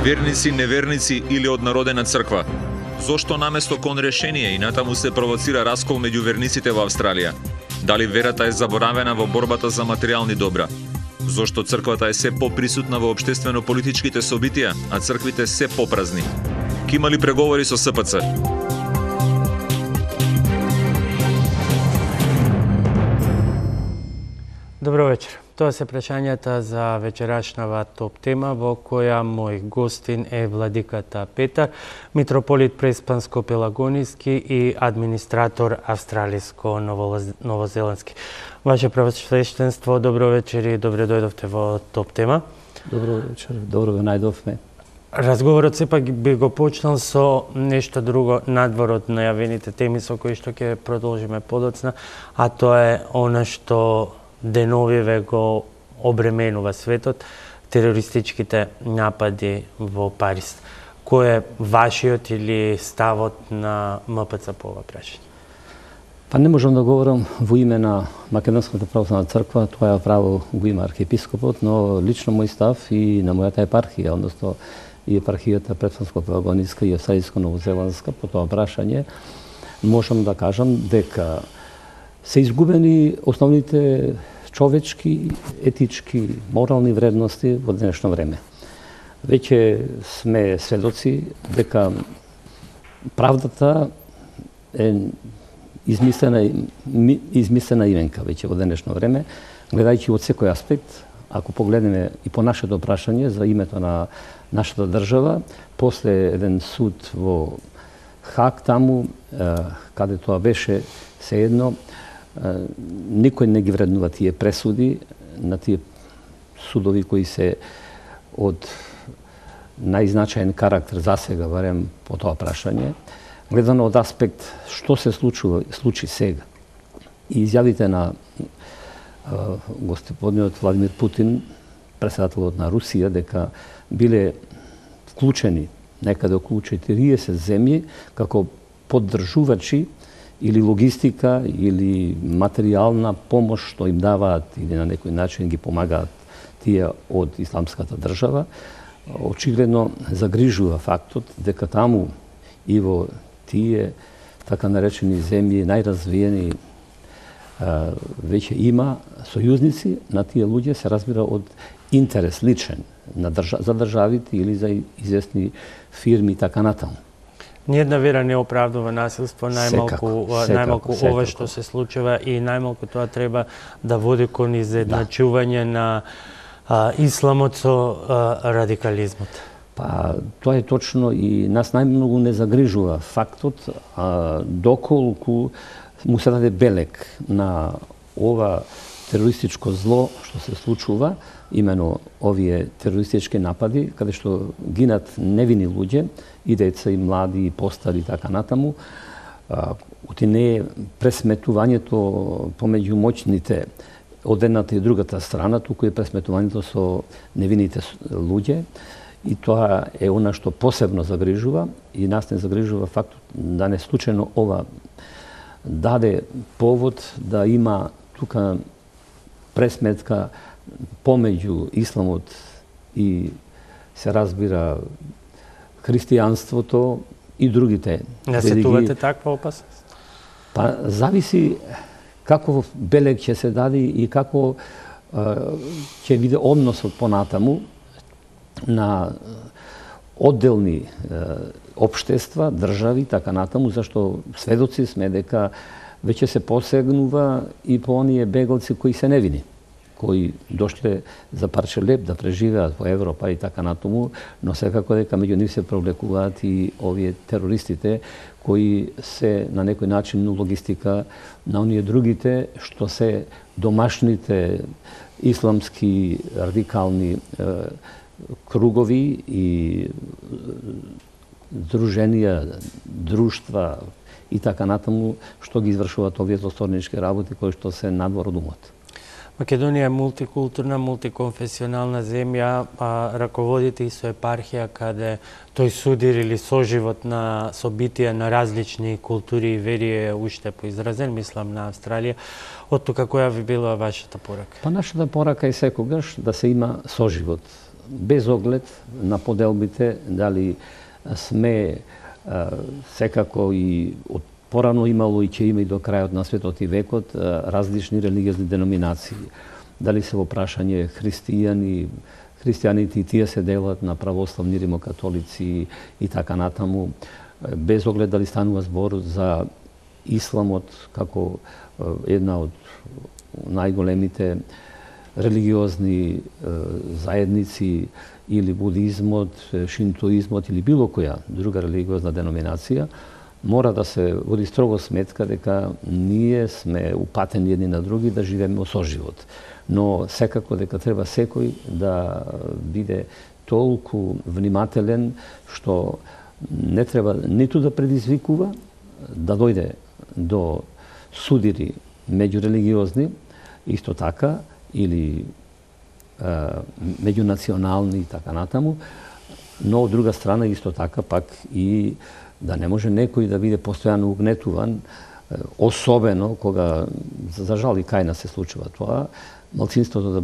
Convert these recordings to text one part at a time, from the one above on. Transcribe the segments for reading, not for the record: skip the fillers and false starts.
Верници, неверници или однародена црква? Зошто наместо кон решение и натаму се провоцира раскол меѓу верниците во Австралија? Дали верата е заборавена во борбата за материјални добра? Зошто црквата е се поприсутна во општествено-политичките собитија, а црквите се попразни? Ки имали преговори со СПЦ? Добро вечер. Тоа се прашањата за вечерашнава топ тема во која мој гостин е владиката Петар, митрополит Преспанско-Пелагониски и администратор австралиско-новозеландски. Ваше превосвещенство, добро вечер и добре дојдовте во топ тема. Добро вечер, добро ве најдовме. Разговорот сепак би го почнал со нешто друго надвор од најавените теми со кои што ќе продолжиме подоцна, а тоа е она што деновиве го обременува светот, терористичките напади во Париз. Кој е вашиот или ставот на МПЦ по ова прашање? Па не можам да говорам во име на Македонската православна црква, тоа е право го има архиепископот, но лично мој став и на мојата епархија, односно и епархијата Преспанско-Пелагониска и Австралиско-новозеландска по тоа прашање, можам да кажам дека се изгубени основните човечки, етички, морални вредности во денешно време. Веќе сме сведоци дека правдата е измислена именка веќе во денешно време, гледајќи од секој аспект. Ако погледнеме и по нашето прашање за името на нашата држава, после еден суд во Хаг таму, каде тоа беше сеедно, никој не ги вреднува тие пресуди на тие судови кои се од најзначаен карактер за сега, барем по тоа прашање. Гледано од аспект што се случи сега и изјавите на господинот Владимир Путин, председателот на Русија, дека биле вклучени некаде околу 40 земји како поддржувачи или логистика, или материјална помош што им даваат или на некој начин ги помагаат тие од исламската држава, очигледно загрижува фактот дека таму и во тие така наречени земји најразвиени веќе има сојузници на тие луѓе, се разбира од интерес личен за државите или за известни фирми и така натаму. Ниједна вера не оправдува насилство, најмалку ова што се случува и најмалку тоа треба да води кон изедначување на исламот со радикализмот. Па, тоа е точно и нас најмногу не загрижува фактот доколку му се даде белег на ова терористичко зло што се случува, имено овие терористички напади, каде што гинат невини луѓе, и деца, и млади, и постари, и така натаму. Оти не е пресметувањето помеѓу моќните од едната и другата страна, туку е пресметувањето со невините луѓе. И тоа е она што посебно загрижува, и нас не загрижува фактот да не случајно ова даде повод да има тука пресметка помеѓу исламот и се разбира христијанството и другите религии. Не сетувате таква опасност? Па зависи како белег ќе се даде и како ќе биде односот понатаму на одделни општества, држави, така натаму, зашто сведоци сме дека веќе се посегнува и по оние бегалци кои се невини, кои дошле за парче леп да преживеат во Европа и така натаму, но секако дека меѓу нив се провлекуваат и овие терористите кои се на некој начин логистика на оние другите што се домашните исламски радикални кругови и друженија, друштва и така натаму што ги извршуваат овие злосторнички работи кои што се надвор од умот. Македонија е мултикултурна, мултиконфесионална земја, раководите и со епархија каде тој судир или соживот на собитија на различни култури и вери е уште поизразен, мислам на Австралија. Од тука која ви била вашата порака? Па нашата порака е секогаш да се има соживот без оглед на поделбите, дали сме секако и од порано имало и ќе има и до крајот на светот и векот различни религиозни деноминации. Дали се во прашање христијаните и тие се делат на православни, римокатолици и така натаму, без оглед дали станува збор за исламот како една од најголемите религиозни заедници или будизмот, шинтоизмот или било која друга религиозна деноминација, мора да се води строго сметка дека ние сме упатени едни на други да живееме соживот. Но секако дека треба секој да биде толку внимателен што не треба ниту да предизвикува, да дојде до судири меѓурелигиозни, исто така, или меѓунационални и така натаму, но од друга страна исто така пак и да не може некој да биде постојано угнетуван, особено кога, за жал и кај нас се случува тоа, малцинството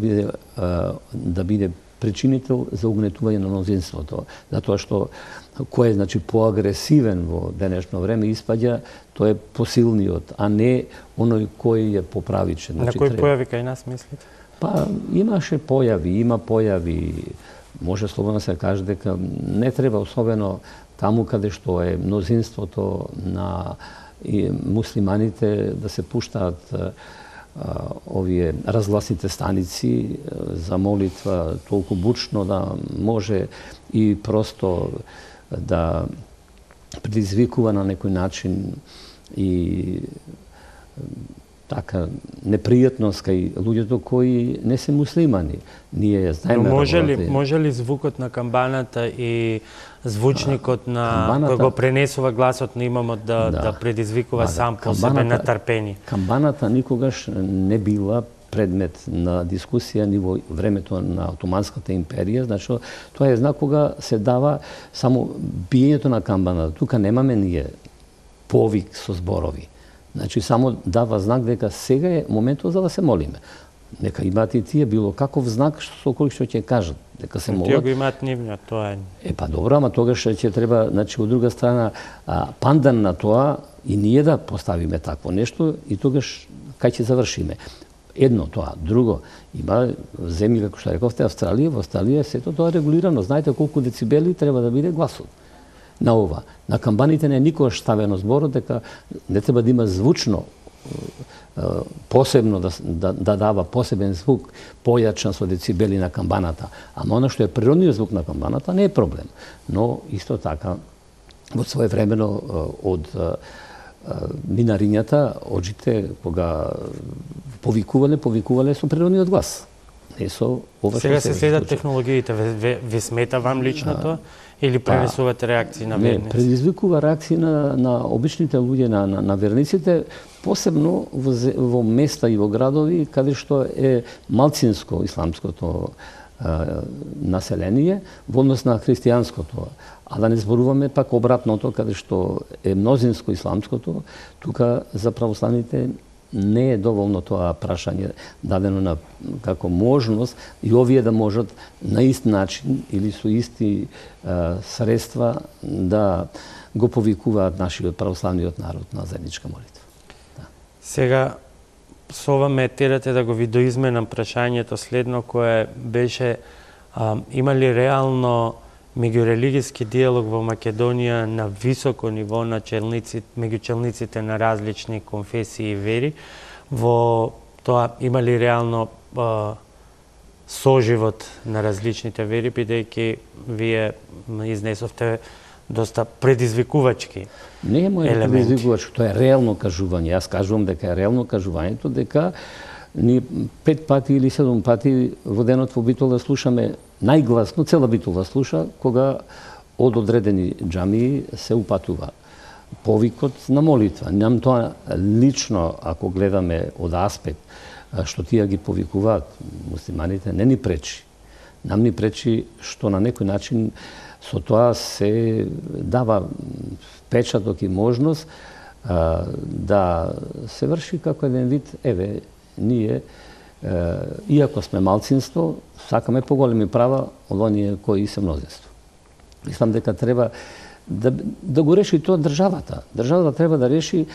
да биде причинител за угнетување на мнозинството, затоа што кој е значи поагресивен во денешно време испаѓа, тој е посилниот, а не оној кој е поправичен. На кој појави кај нас мислите? Па имаше појави, има појави, може слободно се каже дека не треба особено таму каде што е мнозинството на муслиманите да се пуштаат овие разгласните станици за молитва толку бучно да може и просто да предизвикува на некој начин и така непријатност кај луѓето кои не се муслимани. Ние знаеме. Може ли звукот на камбаната и звучникот на кој го пренесува гласот на имамот да предизвикува сам по себе натрпение? Камбаната никогаш не била предмет на дискусија ни во времето на Отоманската империја, значи тоа е знак кога се дава само биењето на камбаната. Тука немаме ние повик со зборови. Значи само дава знак дека сега е моментот за да се молиме. Нека имаат и тие било каков знак со кој што ќе кажат дека се молат. Тие го имаат нивниот, тоа е. Па добро, ама тогаш ќе треба, значи од друга страна пандан на тоа и ние да поставиме такво нешто и тогаш кај ќе завршиме. Едно тоа, друго, има земји како што рековте Австралија, во Австралија сето тоа регулирано. Знаете колку децибели треба да биде гласот на ова. На камбаните не е никогаш ставено зборот дека не треба да има звучно посебно да дава посебен звук појачен со децибели на камбаната. Ама оно што е природниот звук на камбаната не е проблем. Но исто така во своевремено од минарињата оджите кога повикувале со природниот глас. Не со ова што сега се следат технологиите. Ви смета вам лично тоа? Или пренесувате реакции на верници? Не, предизвикува реакции на обичните луѓе, на верниците, посебно во места и во градови каде што е малцинско исламското население во однос на христијанското. А да не зборуваме пак обратното, каде што е мнозинско исламското, тука за православните не е доволно тоа прашање дадено како можност и овие да можат на ист начин или со исти средства да го повикуваат нашиот православниот народ на заедничка молитва. Да. Сега со ова ме терате да го видоизменам прашањето следно кое беше има ли реално меѓурелигиски диалог во Македонија на високо ниво на меѓу челниците на различни конфесии и вери, во тоа има ли реално соживот на различните вери, бидејќи вие изнесовте доста предизвикувачки елементи. Не е моја предизвикувачки, тоа е реално кажување. Јас кажувам дека е реално кажувањето, дека ни 5 пати или 7 пати во денот во Битола слушаме најгласно, цела Битола слуша кога од одредени џамии се упатува повикот на молитва. Нам тоа лично, ако гледаме од аспект што тие ги повикуваат муслиманите, не ни пречи. Нам ни пречи што на некој начин со тоа се дава печаток и можност да се врши како еден вид, ние иако сме малцинство, сакаме поголеми права од оние кои се мнозинство. Мислам дека треба да го реши тоа државата. Државата треба да реши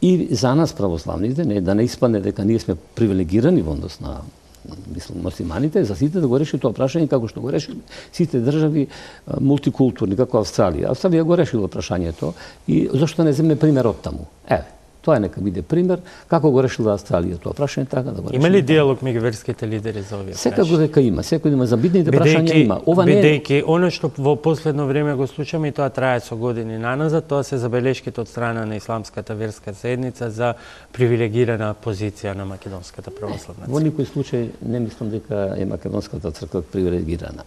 и за нас православните, да не испадне дека ние сме привилегирани во однос на муслиманите, за сите да го реши тоа прашање како што го решили сите држави мултикултурни, како Австралија. Австралија го решила прашањето и зашто не земе пример од таму? Тоа нека биде пример како го решила Австралија тоа прашање, така да го реши. Има ли диалог меѓу верските лидери за овие прашања? Секако дека има, секој има за битните прашања има. Ова не бидејќи она што во последно време го слушаме и тоа трае со години наназад, тоа се забелешките од страна на исламската верска заедница за привилегирана позиција на македонската православна црква. Во никој случај не мислам дека е македонската црква привилегирана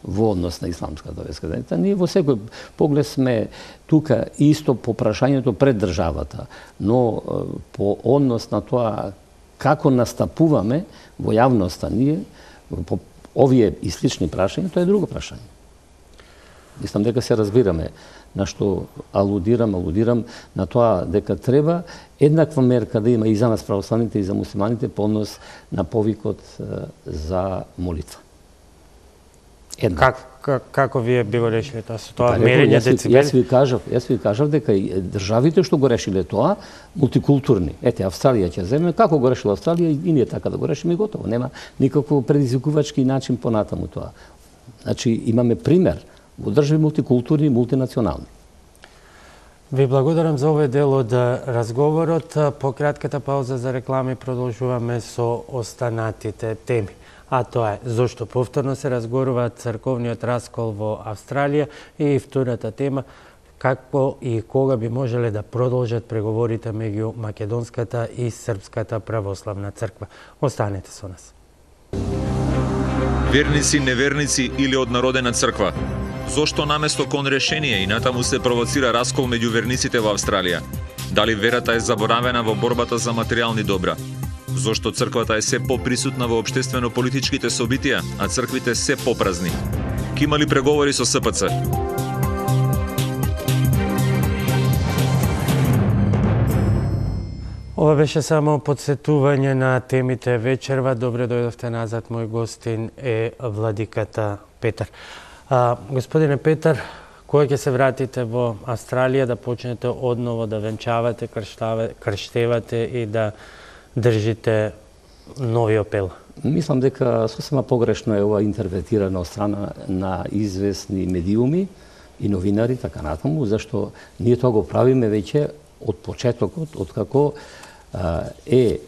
во однос на исламската верска заедница. Ние во секој поглед сме тука исто по прашањето пред државата, но по однос на тоа како настапуваме во јавноста ние по овие и слични прашања, тоа е друго прашање. Мислам дека се разбираме на што алудирам на тоа дека треба еднаква мерка да има и за нас православните и за муслиманите по однос на повикот за молитва. Како вие би го решиле тоа? Со тоа мерење децибели? Јас ви кажав дека и државите што го решиле тоа, мултикултурни. Австралија ќе земе, како го решила Австралија и ние така да го решиме и готово. Нема никаков предизвикувачки начин понатаму тоа. Значи имаме пример во држави мултикултурни и мултинационални. Ви благодарам за овој дел од разговорот. По кратката пауза за реклами продолжуваме со останатите теми. А тоа е зошто повторно се разгорува црковниот раскол во Австралија и втората тема како и кога би можеле да продолжат преговорите меѓу македонската и српската православна црква. Останете со нас. Верници, неверници или однародена црква? Зошто наместо кон решение и натаму се провоцира раскол меѓу верниците во Австралија? Дали верата е заборавена во борбата за материјални добра? Зошто црквата е се поприсутна во општествено-политичките собитија, а црквите се попразни? Ки има ли преговори со СПЦ? Ова беше само подсетување на темите вечерва. Добре дојдовте назад, мој гостин е владиката Петар. Господине Петар, кога ќе се вратите во Австралија да почнете одново да венчавате, крштевате и да држите нови апел? Мислам дека сосема погрешно е ова интерпретирано од страна на известни медиуми и новинари, така натаму, зашто ние тоа го правиме веќе од почетокот, од како е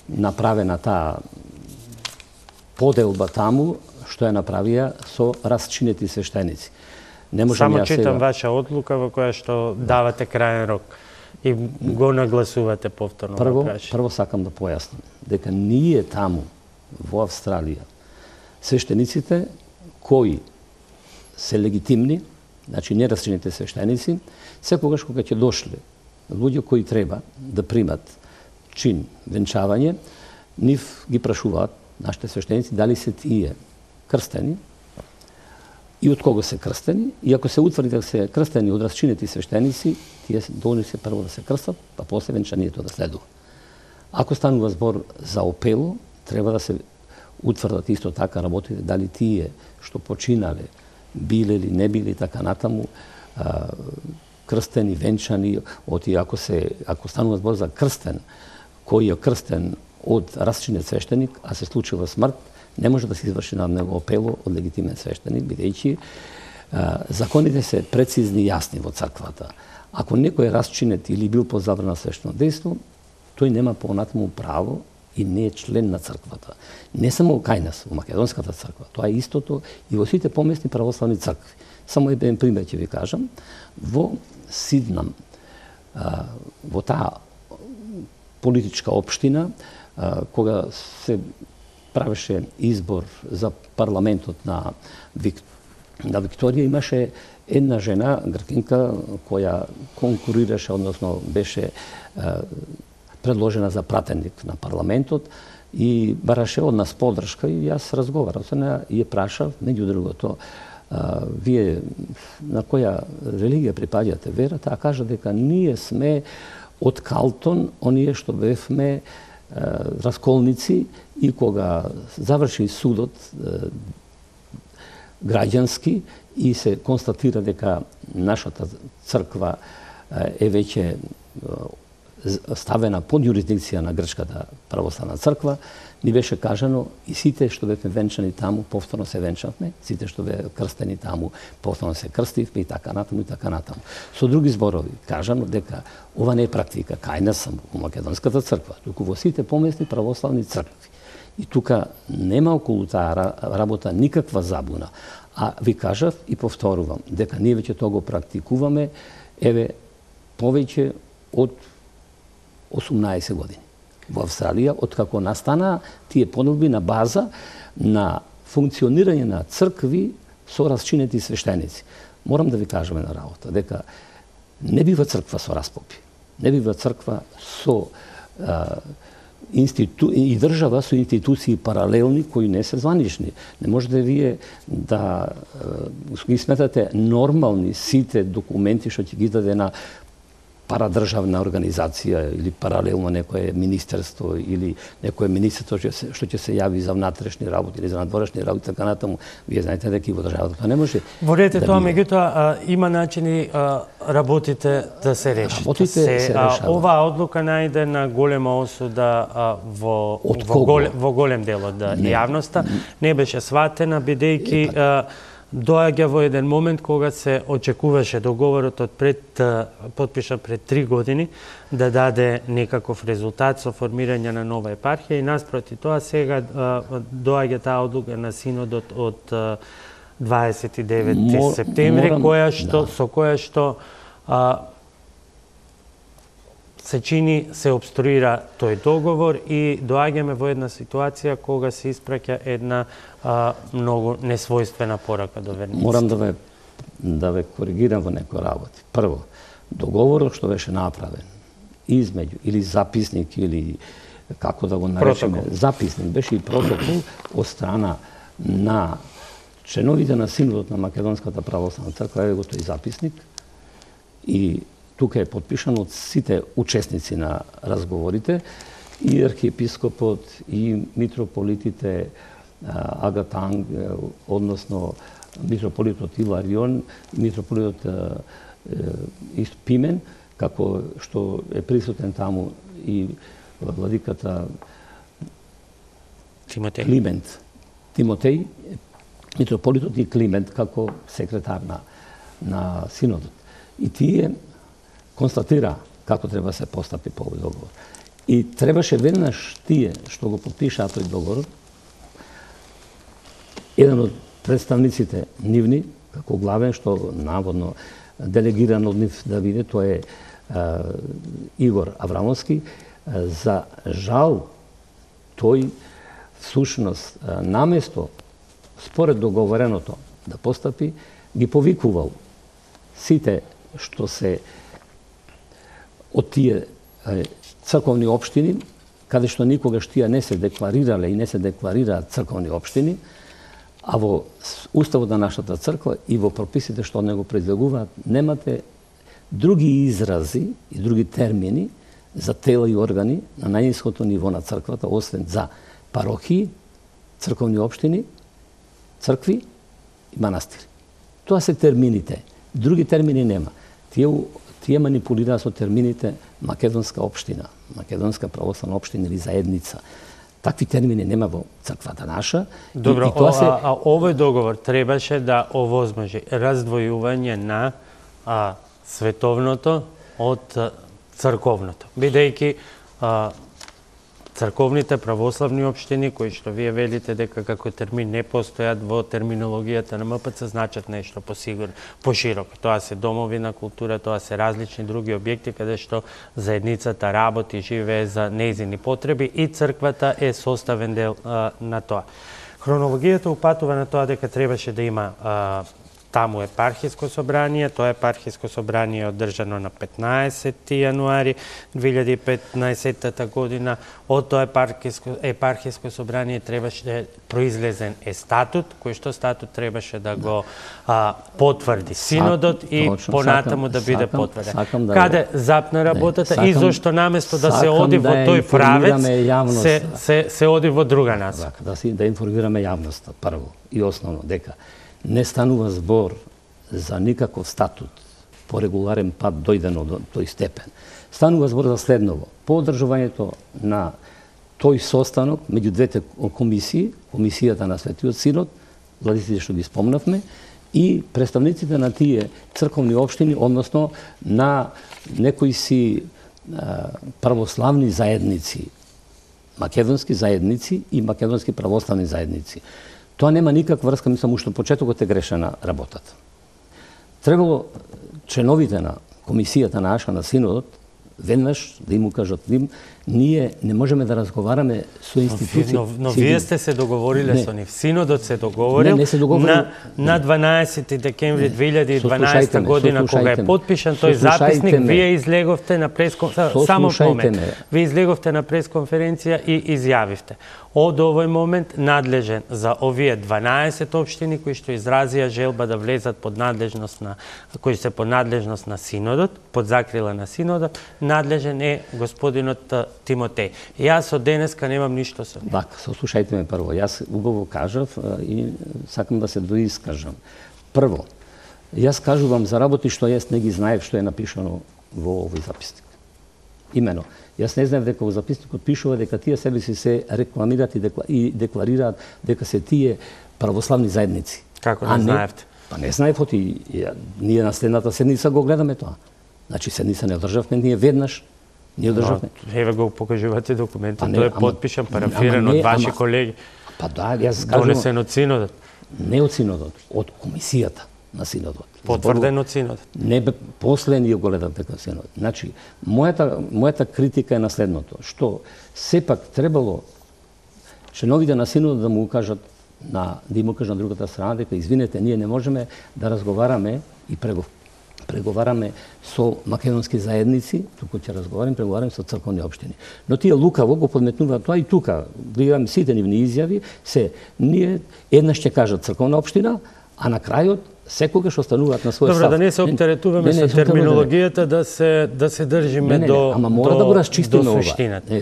направена таа поделба таму, што ја направија со расчинети свештеници. Само читам ваша одлука во која што давате крајен рок и го нагласувате повторно. Прво сакам да појаснам дека ние таму во Австралија свештениците кои се легитимни, значи нерасчинети свештеници, секогаш кога ќе дошле луѓе кои треба да примат чин венчавање, нив ги прашуваат нашите свештеници дали се тие крстени и од кого се крстени, и ако се утврди дека се крстени од расчинети свештеници, тие должни се прво да се крстат, па после венчанието да следува. Ако станува збор за опело, треба да се утврдат исто така работите дали тие што починале, биле или не биле така натаму, крстени, венчани, ако станува збор за крстен, кој е крстен од расчинет свештеник, а се случила смрт, не може да се изврши над него опело од легитимен свештеник, бидејќи законите се прецизни и јасни во црквата. Ако некој е расчинет или бил под забрана свештено дејство, тој нема понатаму право и не е член на црквата. Не само кај нас, во македонската црква, тоа е истото и во сите поместни православни цркви. Само еден пример ќе ви кажам. Во Сиднам, во таа политичка општина, кога се правеше избор за парламентот на Викторија, имаше една жена, гркинка, која конкурираше, односно беше предложена за пратеник на парламентот и бараше од нас поддршка и јас разговарав со неа и ја прашав, меѓу другото, вие на која религија припаѓате, вера? Таа кажа дека ние сме од Калтон, оние што бевме расколници и кога заврши судот граѓански и се констатира дека нашата црква е веќе ставена под юрисдикција на Грчката православна црква, ни беше кажано и сите што бевме венчани таму, повторно се венчавме, сите што бе крстени таму, повторно се крстивме и така натаму и така натаму. Со други зборови, кажано дека ова не е практика кај нас само во Македонската црква, туку во сите помесни православни цркви. И тука нема околу таа работа никаква забуна. А ви кажав и повторувам дека ние веќе тоа го практикуваме еве повеќе од 18 години. Во Австралија, откако настана тие понудби на база на функционирање на цркви со расчинети свештеници. Морам да ви кажам една работа, дека не бива црква со распопи. Не бива црква со и држава со институции паралелни кои не се званични. Не можете вие да ги сметате нормални сите документи што ќе ги даде на парадржавна организација или паралелно некое министерство или некое министерство што ќе се јави за внатрешни работи или за надворешни работи, така натаму. Вие знаете дека и во државата тоа не може. Во ред е тоа, меѓутоа има начини работите да се решат. Оваа одлука најде на голема осуда во голем дел од јавноста. Не беше сватена, бидејќи доаѓа во еден момент кога се очекуваше договорот подпишан пред 3 години да даде некаков резултат со формирање на нова епархија и наспроти тоа сега доаѓа таа одлука на синодот од 29 септември со која што се чини, се обструира тој договор и доаѓаме во една ситуација кога се испраќа една многу несвојствена порака до верниците. Морам да ве коригирам во некои работи. Прво, договорот што беше направен измеѓу или записник или како да го наречеме, записник беше и протокол од страна на членовите на Синодот на Македонската православна црква, еве го тој записник и тука е подпишан од сите учесници на разговорите, и архиепископот, и митрополитите Агатанг, односно митрополитот Иларион, и митрополитот Пимен, како што е присутен таму и владиката Тимотеј, митрополитот и Климент како секретар на Синодот. И тие констатира како треба се постапи по овој договор. И требаше веднаш тие што го подпишаа тој договор, еден од представниците нивни, како главен, што наводно делегиран од нив да биде, тоа е Игор Аврамовски. За жал, тој всушност наместо според договореното да постапи, ги повикувал сите што се од тие црковни општини, каде што никогаш тие не се декларирале и не се декларираат црковни општини, а во уставот на нашата црква и во прописите што него предвидуваат, немате други изрази и други термини за тела и органи на најниското ниво на црквата, освен за парохии, црковни општини, цркви и манастири. Тоа се термините. Други термини нема. Тие манипулираат со термините македонска општина, македонска православна општина или заедница. Такви термини нема во црквата наша. Добро, овој договор требаше да овозможи раздвојување на световното од црковното. Бидејќи црковните православни општини, кои што вие велите дека како термин не постојат во терминологијата на МПЦ, значат нешто посигурно, пошироко. Тоа се домови на култура, тоа се различни други објекти каде што заедницата работи, живее за нејзини потреби и црквата е составен дел на тоа. Хронологијата упатува на тоа дека требаше да има таму епархиско собрание, тоа епархиско собрание е одржано на 15 јануари 2015 година. Од тоа епархиско собрание требаше да произлезен статут, кој што статут требаше да го потврди синодот и понатаму да биде потврден. Каде запна работата и зошто наместо да се оди во тој правец, се оди во друга насока. Да информираме јавноста прво и основно дека не станува збор за никаков статут по регуларен пат дојдено до тој степен. Станува збор за следново. По одржувањето на тој состанок меѓу двете комисии, комисијата на Светиот Синод, владиците што ги спомнавме, и представниците на тие црковни општини, односно на некои си православни заедници, македонски заедници и македонски православни заедници. Тоа нема никаква врска, мислам, уште почетокот е грешена работата. Требало членовите на комисијата наша на Синодот веднаш да им кажат ним, ние не можеме да разговараме со институции. Но вие сте се договориле со нив. Синодот се договорил на 12 декември 2012 година кога е подпишан тој записник, вие излеговте на Вие излеговте на пресконференција и изјавивте. Од овој момент надлежен за овие 12 општини кои што изразија желба да влезат под надлежност на кои се под надлежност на Синодот, под закрила на Синодот, надлежен е господинот Тимотеј. Јас од денеска немам ништо со него. Вака, сослушајте ме прво. Јас убаво кажав и сакам да се доискажам. Прво, јас кажувам за работи што јас не ги знаев што е напишано во овој записник. Имено, јас не знаев дека во записникот пишува дека тие себе си се рекламираат и декларираат дека се тие православни заедници. Како не знаевте? Па не знаев, ние на следната седница го гледаме тоа. Значи седница не одржавме ние веднаш. Ние одржавме. Еве го покажувате документот, тој е подпишан, парафиран од ваши колеги. Па да, јас кажувам. Донесен од Синодот. Не од Синодот, од комисијата на Синодот. Потврден од Синодот. Не, после ние го гледам дека Синодот. Значи, мојата критика е на следното, што сепак требало членовите на Синодот да му кажат да им кажат на другата страна дека извинете, ние не можеме да разговараме и преговараме со македонски заедници, туку ќе преговараме со црковни општини. Но тие лукаво го подметнуваат тоа и тука. Гледам сите нивни изјави, ние еднаш ќе кажат црковна општина, а на крајот секогаш остануваат на свој став. Добро, да не се оптеретуваме со терминологијата, да се држиме до ама мора да го расчистиме ова.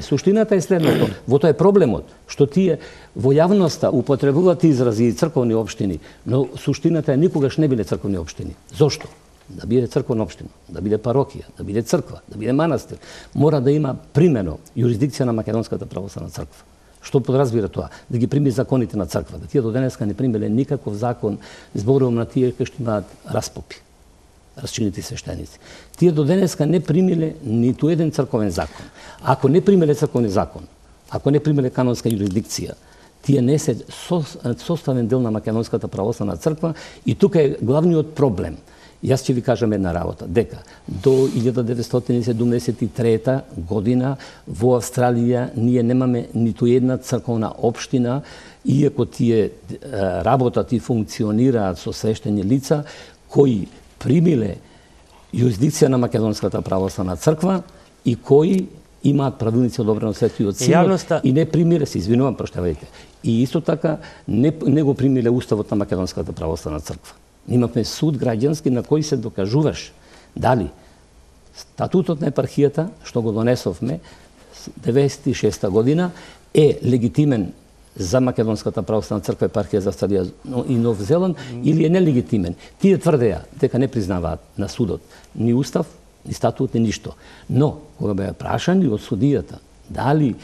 Суштината е следното. Во тоа е проблемот, што тие во јавноста употребуваат изрази црковни општини, но суштината е никогаш не биле црковни општини. Зошто? Да биде црковна општина, да биде парокија, да биде црква, да биде манастир, мора да има примено юрисдикција на Македонската православна црква. Што подразбира тоа? Да ги прими законите на црквата. Тие до денеска не примеле никаков закон, зборувам на тие кои што имаат распопи, расчинети свештеници. Тие до денеска не примиле ниту еден црковен закон. Ако не примеле црковни закон, ако не примеле канонска юрисдикција, тие не се составен дел на Македонската православна црква и тука е главниот проблем. Јас ќе ви кажам една работа, дека до 1973 година во Австралија ние немаме ниту една црковна општина, иако тие работат и функционираат со свештени лица, кои примиле юрисдикција на Македонската православна црква и кои имаат правилници одобрени од Светиот Синод и не примиле, се извинувам, проштавајте, и исто така не го примиле уставот на Македонската православна црква. Имавме суд граѓански на кој се докажуваш дали статутот на епархијата, што го донесовме 96 година, е легитимен за Македонската православна црква, епархија за Австралија и Нов Зеланд, или е нелегитимен. Тие тврдеа дека не признаваат на судот ни устав, ни статут, ни ништо. Но, кога беа прашани од судијата дали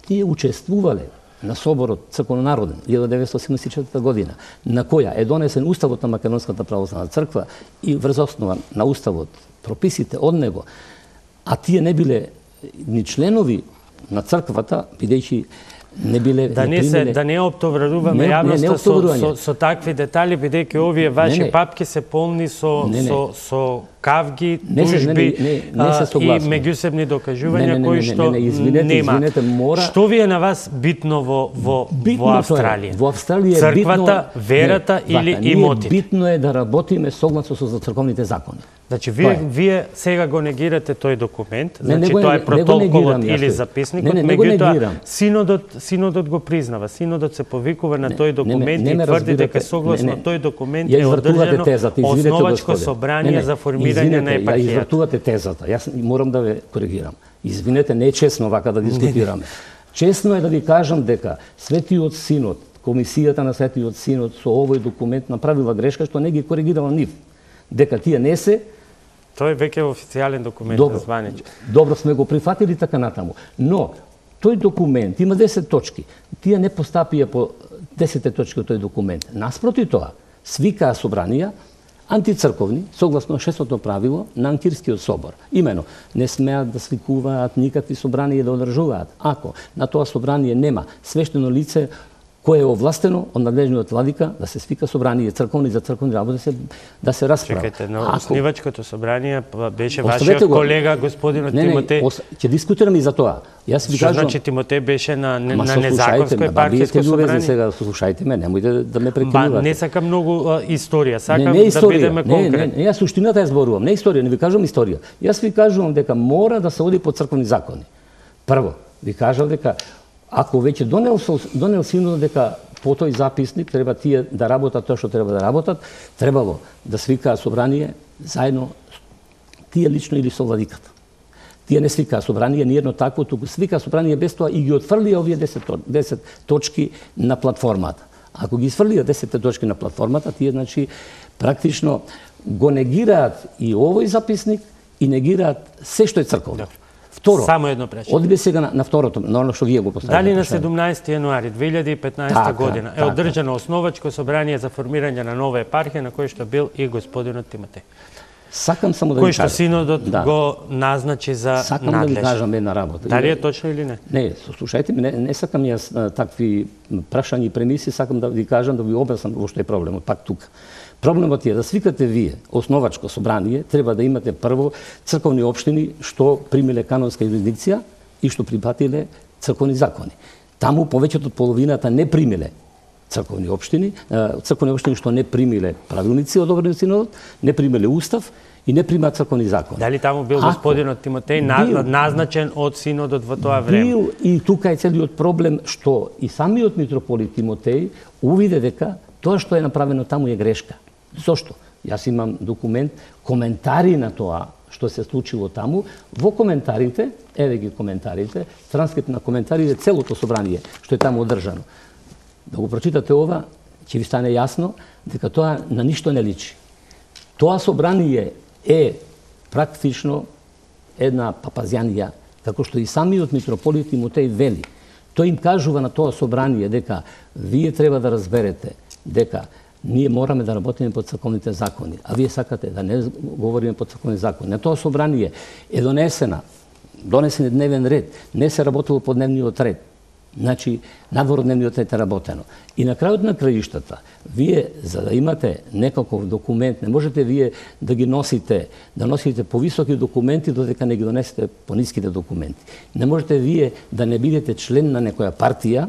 тие учествувале на соборот црковнонароден 1984 година, на која е донесен уставот на Македонската православна црква и врз основа на уставот прописите од него, а тие не биле ни членови на црквата, бидејќи Да не оптоваруваме јавноста со такви детали, бидејќи овие ваши папки се полни со кавги, тужби и меѓусебни докажувања кои што нема. Што ви е на вас битно во Австралија? Во Австралија е црквата, верата или имотите? Битно е да работиме согласно со црковните закони. Значи, вие сега го негирате тој документ, значи тоа е протоколот или записникот, меѓутоа синодот го признава. Синодот се повикува на тој документ и тврди дека согласно тој документ е одржано основачко собрание за формирање на епархијата. Ја извртувате тезата. Јас морам да ве коригирам. Извинете, не е честно вака да дискутираме. Честно е да ви кажам дека Светиот Синод, Комисијата на Светиот Синод со овој документ направила грешка што не ги коригирала нив. Дека тие не се. Тој веќе е официјален документ, званич. Добро сме го прифатили така натаму. Но тој документ има 10 точки. Тие не постапија по 10 точки од тој документ. Наспроти тоа, свикаа собранија антицрковни, согласно 6-то правило на Анкирскиот собор. Имено, не смеат да свикуваат никакви собранија да одржуваат. Ако на тоа собрание нема свештено лице кое е овластено од надлежниот владика да се свика собрание црковни за црковни работи да се расправа. Чекајте, но основачкото собрание беше вашиот колега господинот Тимотеј. Ќе дискутираме и за тоа. Јас ви кажам, значи Тимотеј беше на незаконско епархијско собрание. Сега слушајте ме, немојте да ме прекинувате. Не сакам многу историја, сакам да бидеме конкретни. Не, јас суштината ја зборувам, не историја, не ви кажувам историја. Јас ви кажувам дека мора да се оди по црковни закони. Прво, ви кажав дека ако веќе донел синодот дека по тој записник треба тие да работат тоа што треба да работат, требало да свикаа собрание заедно тие лично или со владиката. Тие не свикаа собрание ниедно такво, туку свикаа собрание без тоа и ги отфрлија овие 10 точки на платформата. Ако ги изфрлија 10 точки на платформата, тие значи практично го негираат и овој записник и негираат се што е црковно. Второ, само едно прашање. Одиме сега на второто, на оно што вие го поставите. Дали на 17 јануари 2015 година е одржано основачко собрание за формирање на нова епархија на кој што бил и господинот Тимотеј? Сакам само да ви кажам. Кој што синодот го назначи за надлеж. Сакам да ви кажам една работа. Дали е точно или не? Не, слушајте ме, не сакам јас такви прашања и премиси, сакам да ви кажам, да ви објаснам во што е проблемот, пак тука. Проблемот е да свикате вие основачко собрание, треба да имате прво црковни општини што примиле канонска юрисдикција и што припатиле црковни закони. Таму повеќето од половината не примиле црковни општини што не примиле правилници одобрени од синодот, не примиле устав и не примаат црковни закони. Дали таму бил господинот Тимотеј назначен од синодот во тоа време? Бил, и тука е целиот проблем што и самиот митрополит Тимотеј увиде дека тоа што е направено таму е грешка. Зошто? Јас имам документ, коментари на тоа што се случило таму. Во коментарите, еве ги коментарите, транскрипт на коментарите, целото собрание што е таму одржано. Да го прочитате ова, ќе ви стане јасно дека тоа на ништо не личи. Тоа собрание е практично една папазјанија, како што и самиот митрополит Тимотеј вели. Тој им кажува на тоа собрание дека вие треба да разберете дека ние мораме да работиме по црковните закони, а вие сакате да не говориме по црковни закони. На тоа собрание е донесен дневен ред, не се работило по дневниот ред. Значи, надвор од дневниот ред е работено. И на крајот на краиштата, вие, за да имате некаков документ, не можете вие да ги носите повисоки документи, додека не ги донесете пониските документи. Не можете вие да не бидете член на некоја партија,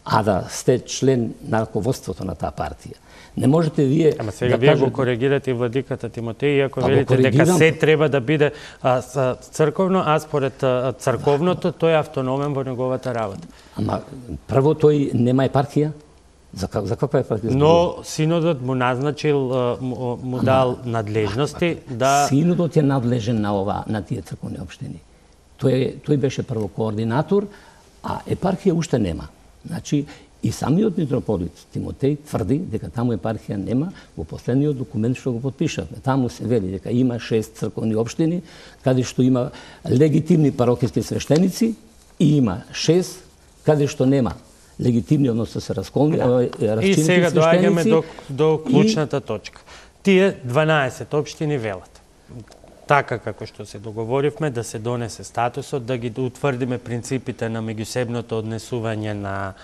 а да сте член на раководството на таа партија. Не можете вие Ама сега вие го коригирате владиката Тимотеј, иако велите дека се треба да биде црковно, а според црковното тој е автономен во неговата работа. Ама прво тој нема епархија? За каква епархија? Но синодот му назначил, му дал надлежности да... Синодот е надлежен на тие црковни општини. Тој беше прво координатор, а епархија уште нема. Значи, и самиот митрополит Тимотеј тврди дека таму епархија нема во последниот документ што го потпишавме. Таму се вели дека има 6 црковни општини, каде што има легитимни парокиски свештеници и има 6 каде што нема легитимни, односно се расчинети свештеници. И сега доаѓаме до клучната точка. Тие 12 општини велат. така како што се договоривме, да се донесе статусот, да ги утврдиме принципите на меѓусебното однесување на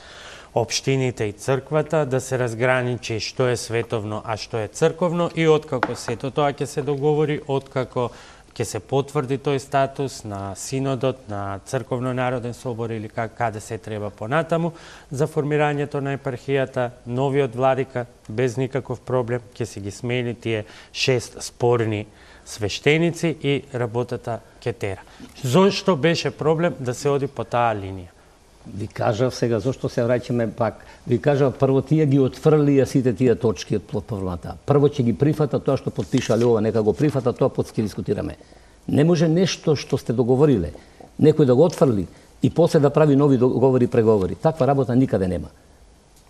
општините и црквата, да се разграничи што е световно, а што е црковно, и откако сето тоа ќе се договори, откако ќе се потврди тој статус на синодот, на црковно народен собор или каде се треба понатаму, за формирањето на епархијата, новиот владика без никаков проблем ќе си ги смени тие 6 спорни свештеници и работата ќе тера. Зошто беше проблем да се оди по таа линија? Ви кажав сега, зашто се враќаме пак, ви кажав, прво тие ги отфрлија сите тие точки од платформата. Прво ќе ги прифата тоа што потпишале ова, нека го прифата тоа, после ќе дискутираме. Не може нешто што сте договориле, некој да го отфрли и после да прави нови договори и преговори. Таква работа никаде нема.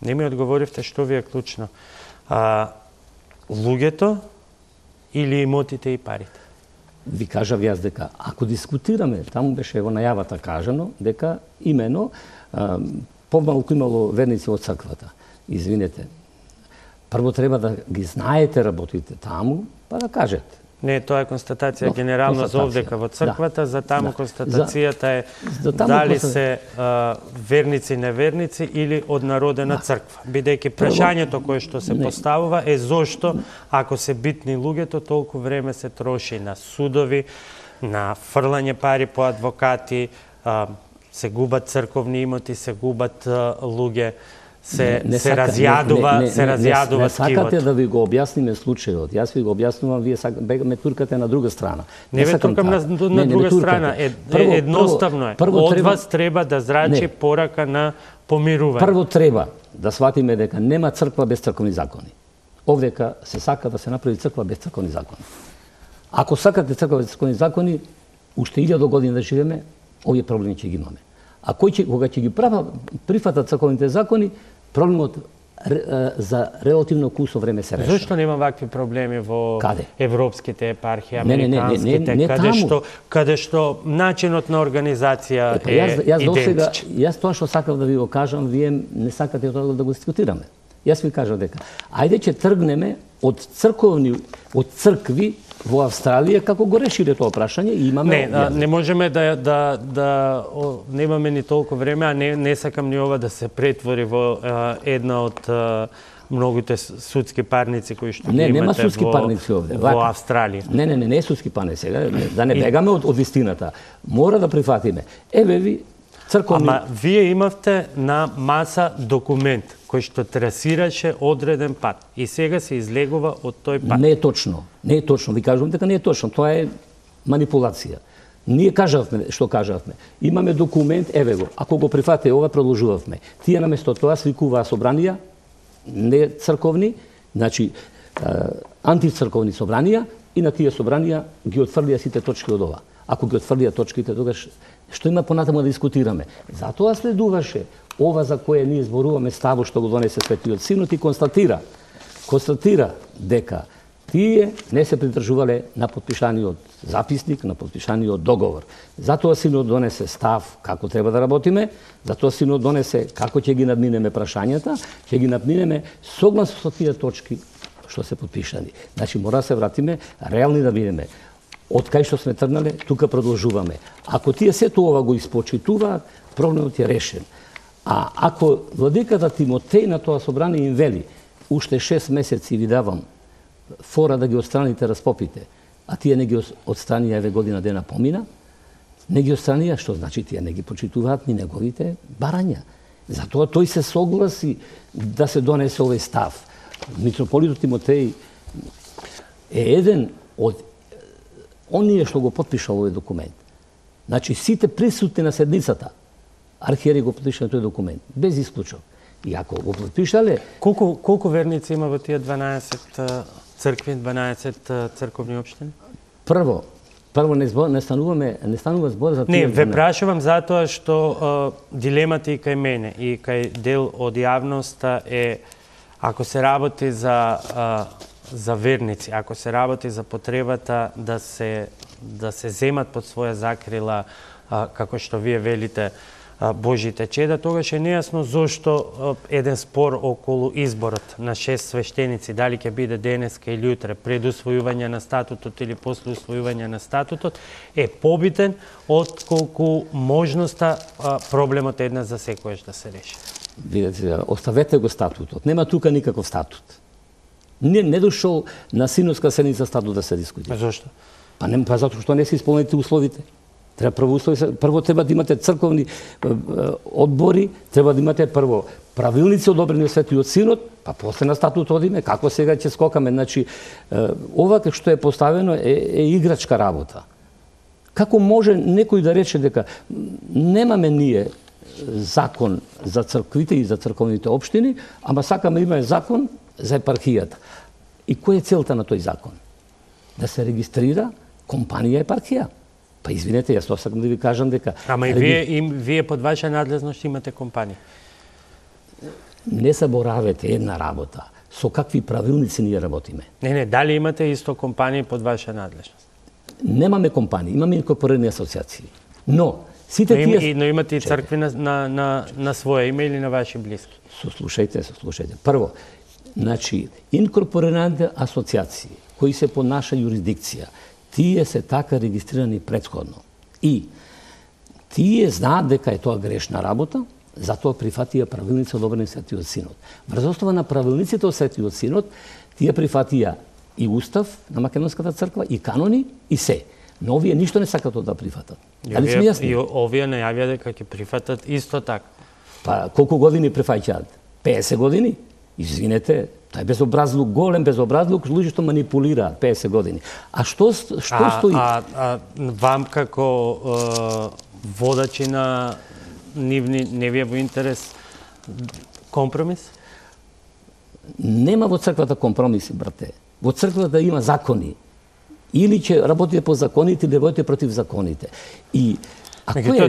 Не ми одговоривте што ви е клучно. Луѓето или имотите и парите? Ви кажав јас дека ако дискутираме, таму беше во најавата кажано дека имено помалку имало верници од црквата. Извинете. Прво треба да ги знаете работите таму, па да кажете. Не, тоа е констатација генерално за овдека во црквата, за таму констатацијата е дали се верници, неверници или однародена црква. Бидејќи прашањето кое што се поставува е зошто, ако се битни луѓето, толку време се троши на судови, на фрлање пари по адвокати, се губат црковни имоти, се губат луѓе, се разјадува скивот. Не сакате да ви го објасниме случајот. Јас ви го објаснувам, вие ме туркате на друга страна. Не ве туркам на друга страна. Едноставно е. Од вас треба да зрачи порака на помирување. Прво треба да сватиме дека нема црква без црковни закони. Овдека се сака да се направи црква без црковни закони. Ако сакате црква без црковни закони, уште 1000 години да живееме, овие проблеми ќе ги имаме. А кога ќе ги прифатат црковните закони, проблемот за релативно кусо време се решава. Зошто нема вакви проблеми во европските епархии, американските, каде што начинот на организација е идентичен? Јас тоа што сакав да ви го кажам, вие не сакате тоа да го дискутираме. Јас ви кажав дека ајде ќе тргнеме од цркви во Австралија, како го решиле тоа прашање и имаме... Не можеме немаме ни толку време, а не сакам ни ова да се претвори во една од многуте судски парници кои што имате нема судски парници овде, во Австралија. Не е судски парници, да не бегаме од вистината. Мора да прифатиме. Еве ви црковни... Ама вие имавте на маса документ кој што трасираше одреден пат и сега се излегува од тој пат. Не е точно. Не е точно. Ви кажувам дека не е точно. Тоа е манипулација. Ние кажавме што кажавме. Имаме документ, еве го. Ако го прифате ова, продолжувавме. Тие наместо тоа свикуваа собранија, не црковни, значи антицрковни собранија, и на тие собранија ги отфрлија сите точки од ова. Ако ги отфрлија точките, тогаш што има понатаму да дискутираме? Затоа следуваше ова за кое ние зборуваме ставот што го донесе Светиот Синод и констатира дека тие не се придржувале на потпишаниот записник, на потпишаниот договор. Затоа Синод донесе став како треба да работиме, затоа Синод донесе како ќе ги надминеме прашањата, ќе ги надминеме согласно со тие точки што се потпишани. Значи мора да се вратиме реални да бидеме. Од кај што сме тргнале, тука продолжуваме. Ако тие сето ова го испочитуваат, проблемот е решен. А ако владиката Тимотеј на тоа собрание им вели, уште 6 месеци ви давам фора да ги отстраните разпопите, а тие не ги отстранија, еве година дена помина, не ги отстранија, што значи тие не ги почитуваат ни неговите барања. Затоа тој се согласи да се донесе овој став. Митрополитот Тимотеј е еден од оние што го потпишал овој документ. Значи сите присутни на седницата архиери го потпишале тој документ, без исклучок. И ако го потпишале... Колку верници има во тие 12 цркви, 12 црковни општини? Прво не станува збор за Не, тие... ве прашувам затоа што дилемата и кај мене и кај дел од јавноста е ако се работи за верници, ако се работи за потребата да се земат под своја закрила, како што вие велите, Божите чеда, тогаш е нејасно зошто еден спор околу изборот на 6 свештеници, дали ќе биде денеска или утре, пред усвојување на статутот или после усвојување на статутот, е побитен отколку можноста проблемот еднаш за секојаш да се реши. Видете, оставете го статутот. Нема тука никаков статут. Не дошол на синоска седница статут да се дискутира. Зошто? Па затоа што не се исполнените условите. Прво треба да имате црковни одбори, треба да имате прво правилници одобрени од Светиот Синод, па после на статут одиме, како сега ќе скокаме. Значи, ова што е поставено е играчка работа. Како може некој да рече дека немаме ние закон за црквите и за црковните општини, ама сакаме имаме закон за епархијата. И која е целта на тој закон? Да се регистрира компанија епархија. Па извинете, јас тоа сакам да ви кажам дека... Ама и вие под ваша надлежност имате компанија. Не заборавете една работа. Со какви правилници ние работиме? Не, дали имате исто компанија под ваша надлежност? Немаме компании, имаме инкорпорирани асоциации. Но сите тие... Но имате и цркви на своје име или на ваши блиски? Сослушајте. Прво, значи, инкорпорираните асоциации кои се по наша юрисдикција, тие се така регистрирани претходно. И тие знаат дека е тоа грешна работа, затоа прифатија правилници одобрени Светиот Синод. Врз основа на правилниците од Светиот Синод, тие прифатија и устав на Македонската црква, и канони, и се. Но овие ништо не сакат да прифатат. Дали сме јасни? И овие најавија дека ќе прифатат исто така. Па колку години прифаќаат? 50 години? Извинете, тоа е безобразлук, голем безобразлук, луѓе што манипулираат 50 години. А што стои? Вам како водачи на нивни, не ви е во интерес компромис? Нема во црквата компромиси, брате. Во црквата има закони. Или ќе работите по законите, или работите против законите. И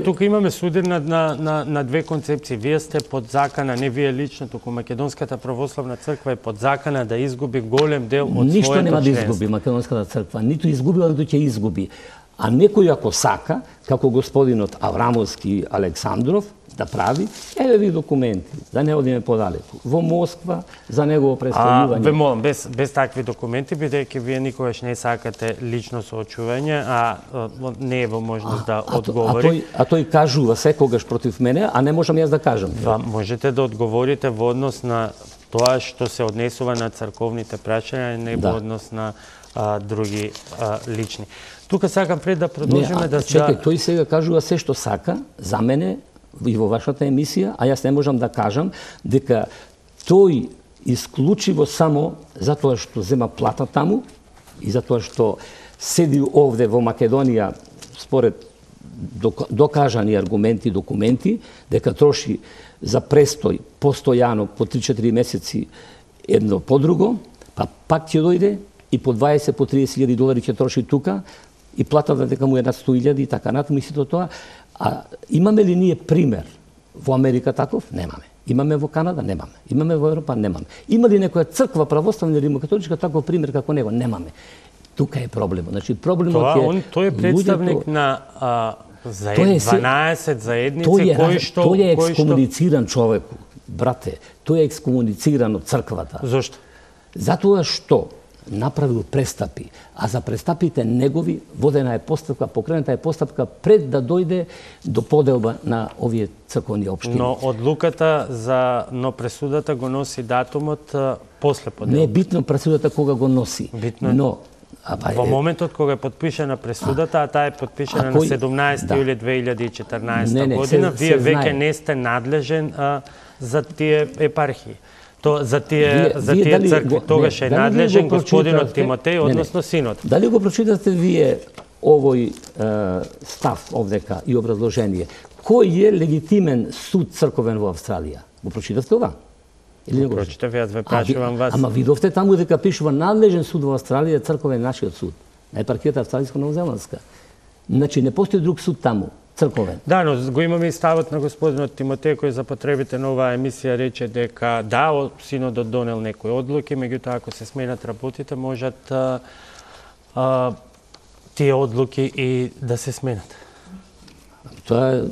тука имаме судир на две концепции. Вие сте под закана, не вие лично, туку Македонската православна црква е под закана да изгуби голем дел од своето членство. Ништо нема да изгуби Македонската црква, ниту изгубила, ниту ќе изгуби. А некој ако сака, како господинот Аврамовски Александров, да прави, еве ви документи, да не одиме подалеку. Во Москва за негово представување. Ве молам, без такви документи, бидејќи вие никогаш не сакате лично соочување, не е во можност да одговори. А тој кажува секогаш против мене, а не можам јас да кажам. Можете да одговорите во однос на тоа што се однесува на црковните прашања, не во однос на други лични. Тука сакам пред да продолжиме Чекај, тој сега кажува се што сака за мене и во вашата емисија, а јас не можам да кажам дека тој исклучиво само затоа што зема плата таму и затоа што седи овде во Македонија според докажани аргументи, документи, дека троши за престој постојано по 3-4 месеци едно по друго, па пак ќе дојде и по 20, по 30.000 долари ќе троши тука и платата дека му е над 100.000 и така натаму и сето тоа. А имаме ли ние пример во Америка таков? Немаме. Имаме во Канада? Немаме. Имаме во Европа? Немаме. Има ли некоја црква православна или римокатоличка таков пример како него? Немаме. Тука е проблемот. Значи проблемот тој е представник на 12 заедници кои што тој е екскомунициран човек, брате. Тој е екскомунициран од црквата. Зошто? Затоа што направил престапи, а за престапите негови водена е постапка, покрената е постапка пред да дојде до поделба на овие црковни општини. Но пресудата го носи датумот после поделба. Не е битно пресудата кога го носи. Битно но во моментот кога е подпишана пресудата, а таа е подпишана на 17 јули 2014 година, вие веќе не сте надлежен за тие епархии. За тие цркви. Тогаш е надлежен господинот Тимотеј, односно синот. Дали го прочитате вие овој став овдека и образложение? Кој е легитимен суд црковен во Австралија? Го прочитавте ова? Или не го прочитавте? Јас ве прашувам вас. Ама видовте таму дека пишува надлежен суд во Австралија, црковен нашиот суд. На епархијата австралиско-новозеландска. Значи не постои друг суд таму. Црковен. Да, но го имаме и ставот на господинот Тимотеј кој за потребите на оваа емисија рече дека синодот донел некои одлуки, меѓутоа ако се сменат работите можат тие одлуки и да се сменат. Тоа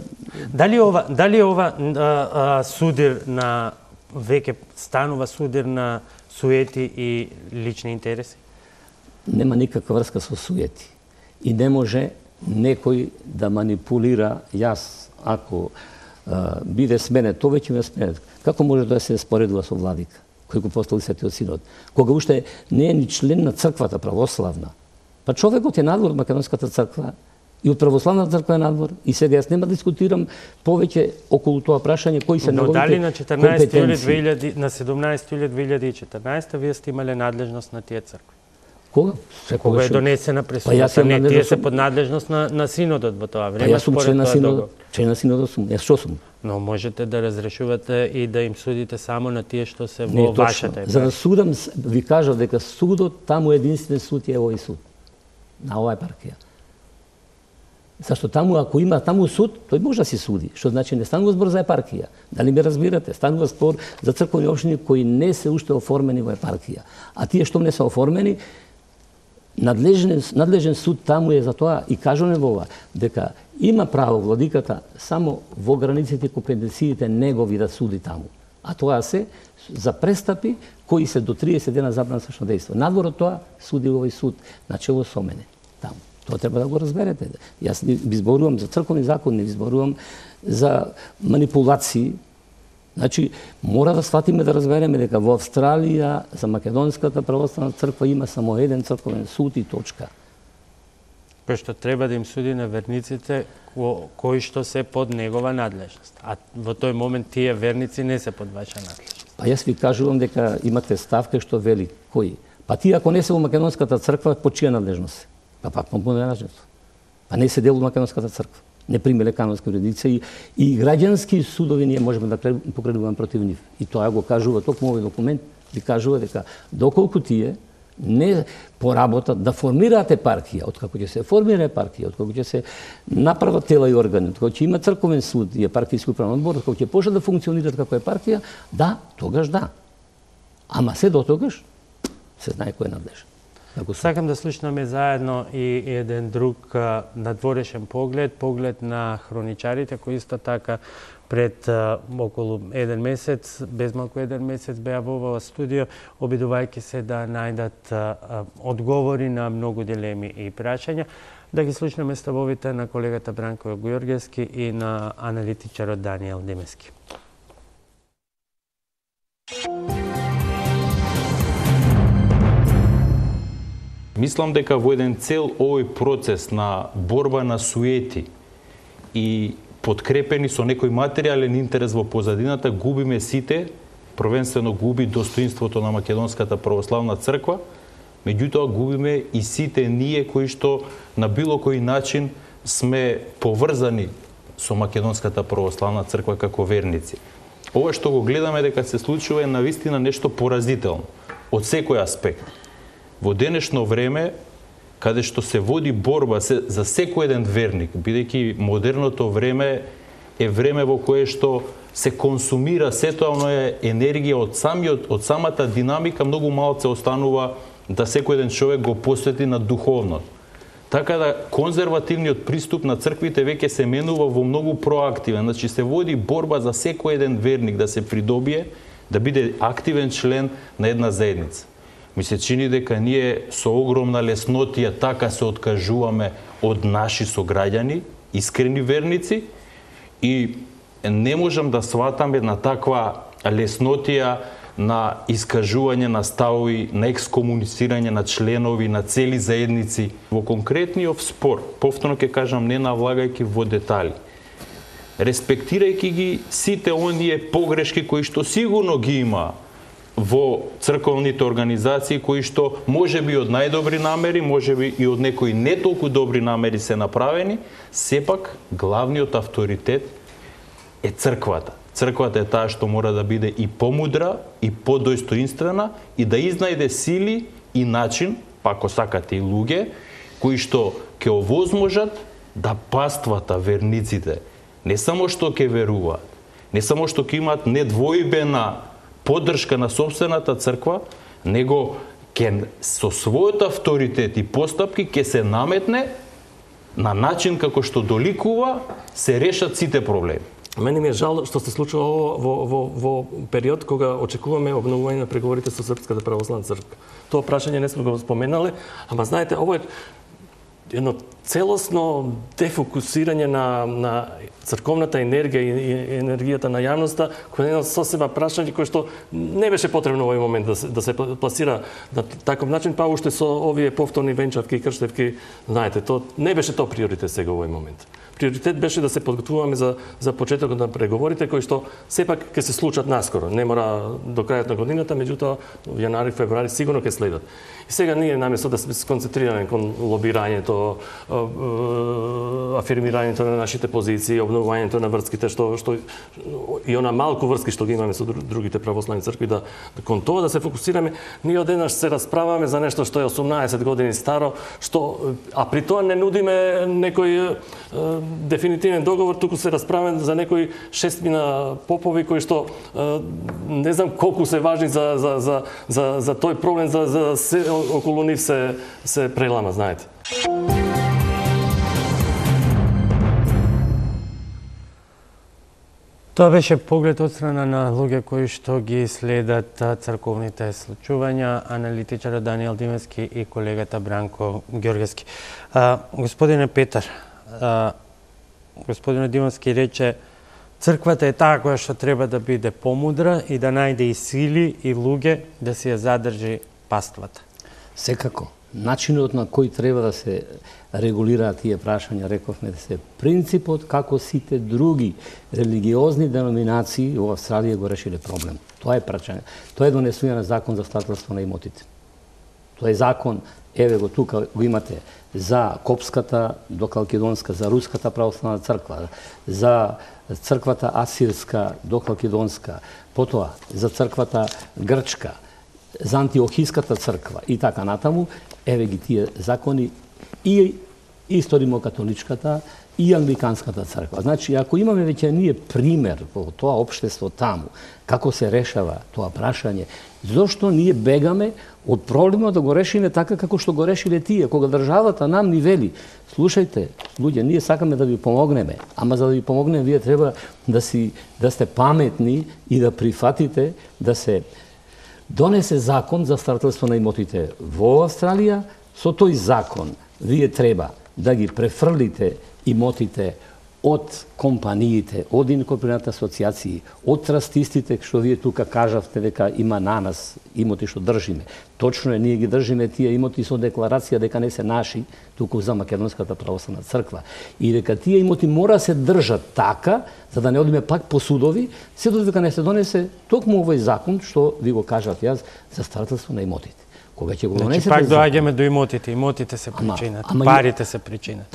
Дали ова судир на веќе станува судир на суети и лични интереси? Нема никаква врска со суети. И не може некој да манипулира. Јас, ако биде сменет, то веќе ме сменет. Како може да се споредува со владика, кој го постави Светиот Синод? Кога уште не е ни член на црквата православна. Па човекот е надвор од Македонската црква и од православната црква е надвор. И сега јас нема да дискутирам повеќе околу тоа прашање кои се неговите компетенции. На 17 јули 2014 вие сте имале надлежност на тие цркви? Кога? Кога е донесена пресудата? Не, тие се под надлежност на Синодот во тоа време. Па јас сум член на Синодот сум. Јас што сум? Но можете да разрешувате и да им судите само на тие што се во вашата епархија. За да судам, ви кажав дека судот, таму единствен суд е овој суд. На оваа епархија. Зашто таму, ако има таму суд, тој може да се суди. Што значи не станува збор за епархија. Дали ме разбирате? Станува збор за црковни општини кои не се уште оформени во епархија. А тие што не се оформени, надлежен суд таму е за тоа и кажуваме во ова, дека има право владиката само во границите и компетенциите негови да суди таму. А тоа се за престапи кои се до 30 дена забрана сршно дејство. Надвор од тоа суди овој суд начело со мене таму. Тоа треба да го разберете. Јас не ви зборувам за црковни закон, не ви зборувам за манипулации. Значи, мора да сватиме да разбереме дека во Австралија за Македонската православна црква има само еден црковен суд и точка. Кој што треба да им суди на верниците кои што се под негова надлежност. А во тој момент тие верници не се под ваша надлежност. Па јас ви кажувам дека имате ставка што вели кои. Па тие ако не се во Македонската црква, по чија надлежност? Па пак по надлежност. Па не се дел во Македонската црква. Не примеле канонски юрисдикција и граѓански судови ние можеме да покrenуваме против нив. И тоа го кажува токму овој документ, ви кажува дека доколку тие не поработат да формираат епархија, откако ќе се формира епархија, откако ќе се направат тела и органи, откако ќе има црковен суд и епархијски управен одбор, откако ќе почнат да функционираат како епархија, да, тогаш да. Ама се до тогаш се знае кој е надлежен. Сакам да слушнаме заедно и еден друг надворешен поглед на хроничарите, кои исто така пред околу еден месец, безмалку еден месец беа во ова студио, обидувајќи се да најдат одговори на многу дилеми и прашања. Да ги слушнаме ставовите на колегата Бранко Ѓорѓевски и на аналитичарот Даниел Демески. Мислам дека во еден цел овој процес на борба на суети и подкрепени со некој материјален интерес во позадината, губиме сите, првенствено губи достоинството на Македонската православна црква, меѓутоа губиме и сите ние кои што на било кој начин сме поврзани со Македонската православна црква како верници. Ова што го гледаме дека се случува е навистина нешто поразително од секој аспект. Во денешно време, каде што се води борба за секој еден верник, бидејќи модерното време е време во кое што се консумира сето оноја енергија од самата динамика, многу малце останува да секој еден човек го посвети на духовност. Така да конзервативниот приступ на црквите веќе се менува во многу проактивен, значи се води борба за секој еден верник да се придобие, да биде активен член на една заедница. Ми се чини дека ние со огромна леснотија така се откажуваме од наши сограѓани, искрени верници, и не можам да сватам една таква леснотија на искажување на ставови, на екскомуницирање на членови, на цели заедници. Во конкретниот спор, повторно ќе кажам, не навлагајќи во детали, респектирајќи ги сите оние погрешки кои што сигурно ги има во црковните организации, кои што можеби од најдобри намери, можеби и од некои не толку добри намери се направени, сепак главниот авторитет е црквата. Црквата е таа што мора да биде и помудра, и подостоинствена, и да изнајде сили и начин, па ако сакате и луѓе, кои што ќе овозможат да паствата верниците, не само што ќе веруваат, не само што ќе имаат недвојбена поддршка на собствената црква, него ќе со својот авторитет и постапки ќе се наметне на начин како што доликува се решат сите проблеми. Мене ми е жал што се случува ово во период кога очекуваме обновување на преговорите со Српската православна црква. Тоа прашање не сме го споменале, ама знаете, ово е едно целосно дефокусирање на црковната енергија и енергијата на јавноста, кој е едно сосема прашање кој што не беше потребно во овој момент да се пласира на таков начин, па уште со овие повторни венчавки и крштевки, знаете, тоа не беше тоа приоритет сега во овој момент. Приоритет беше да се подготвуваме за почетокот на преговорите кои што сепак ќе се случат наскоро. Не мора до крајот на годината, меѓутоа во јануари, февруари сигурно ќе следат. И сега ние наместо да сме сконцентрирани кон лобирањето, афирмирањето на нашите позиции, обновувањето на врските што и она малку врски што ги имаме со другите православни цркви, да кон тоа да се фокусираме, ние одеднаш се расправаме за нешто што е 18 години старо, а при тоа не нудиме некој дефинитивен договор, туку се расправаме за некои шестмина попови кои што не знам колку се важни за тој проблем, за се околу нив се прелама, знаете. Тоа беше поглед од страна на луѓе кои што ги следат црковните случувања, аналитичарот Даниел Димовски и колегата Бранко Ѓоргевски. Господине Петар, господинот Димовски рече црквата е таа која што треба да биде помудра и да најде и сили и луѓе да си ја задржи паствата. Секако. Начинот на кој треба да се регулираат тие прашања, рековме, да се принципот како сите други религиозни деноминации во Австралија го решиле проблем. Тоа е прашање. Тоа е донесување на закон за старателство на имотите. Тоа е закон, еве го тука го имате, за Копската до Калкедонска, за Руската православна црква, за црквата Асирска до Калкедонска, потоа за црквата Грчка, за Антиохиската црква и така натаму, еве ги тие закони и историмо-католичката и англиканската црква. Значи, ако имаме веќе ние пример во тоа општество таму, како се решава тоа прашање, зошто ние бегаме од проблемот да го решиме така како што го решиле тие, кога државата нам ни вели: слушајте, луѓе, ние сакаме да ви помогнеме, ама за да ви помогнеме вие треба да сте паметни и да прифатите да се донесе закон за старателство на имотите во Австралија. Со тој закон вие треба да ги префрлите имотите од компаниите, од инкорпорираните асоциации, од трастистите, што вие тука кажавте дека има на нас имоти што држиме. Точно е, ние ги држиме тие имоти со декларација дека не се наши, туку за Македонската православна црква. И дека тие имоти мора се држат така, за да не одиме пак по судови, се додека не се донесе токму овој закон што ви го кажав јас за старателство на имотите. Кога ќе го донесете, пак доаѓаме до имотите. Имотите се причинат, парите се причинат.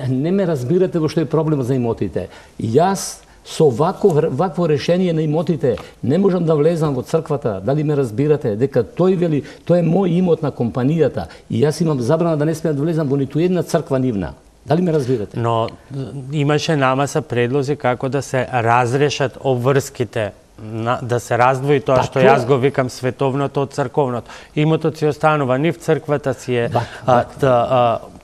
Не ме разбирате во што е проблемот за имотите. Јас со вакво решение на имотите не можам да влезам во црквата. Дали ме разбирате? Дека тој вели, тој е мој имот на компанијата и јас имам забрана да не смеам да влезам во ниту една црква нивна. Дали ме разбирате? Но имаше намаса предлози како да се разрешат обврските, да се раздвои тоа што јас го викам световното од црковното. Имотот си останува нив, црквата си е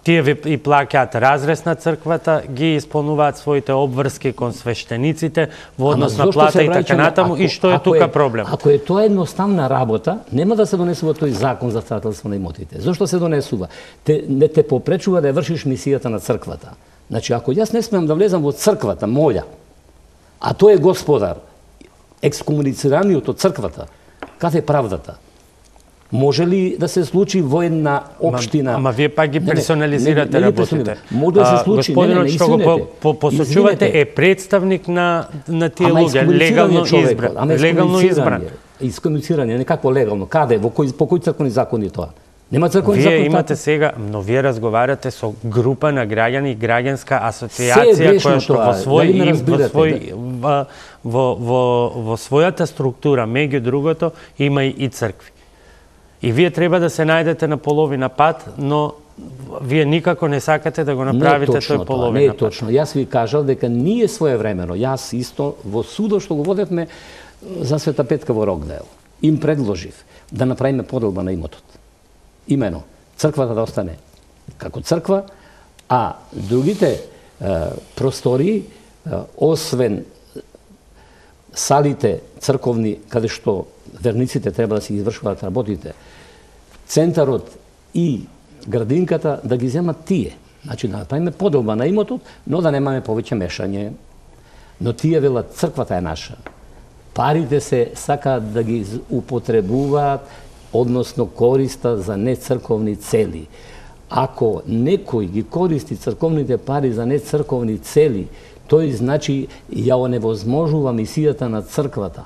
тие ви и плаќаат разрез на црквата, ги исполнуваат своите обврски кон свештениците во однос на плата и така натаму, и што е тука проблем? Ако е тоа едноставна работа, нема да се донесува тој закон за старателство на имотите. Зошто се донесува? Не те попречува да ја вршиш мисијата на црквата. Значи, ако јас не смеам да влезам во црквата моја, а тој е господар, екскомуницираниот од црквата, каде е правдата? Може ли да се случи во една општина? Ама вие пак ги персонализирате работите. Може да се случи, господинот што го посочувате е представник на тие луѓе, легално избран. Искомуницирање, некако легално. Каде? По кој црковни закони тоа? Нема црковни закони. Вие имате сега, но вие разговарате со група на граѓани и граѓанска асоциација која што во својата структура, меѓу другото, има и цркви. И вие треба да се најдете на половина пат, но вие никако не сакате да го направите тој половина пат. Не е точно. Јас ви кажав дека ние своевремено, јас исто во судот што го водевме за Света Петка во Рокдейл, им предложив да направиме поделба на имотот. Имено, црквата да остане како црква, А другите простори, освен салите црковни, каде што верниците треба да си извршуваат работите, центарот и градинката да ги земат тие. Значи да направиме поделба на имотот, но да немаме повеќе мешање. Но тие велат, црквата е наша. Парите се сакаат да ги употребуваат, односно користа за нецрковни цели. Ако некој ги користи црковните пари за нецрковни цели, тој значи ја оневозможува мисијата на црквата.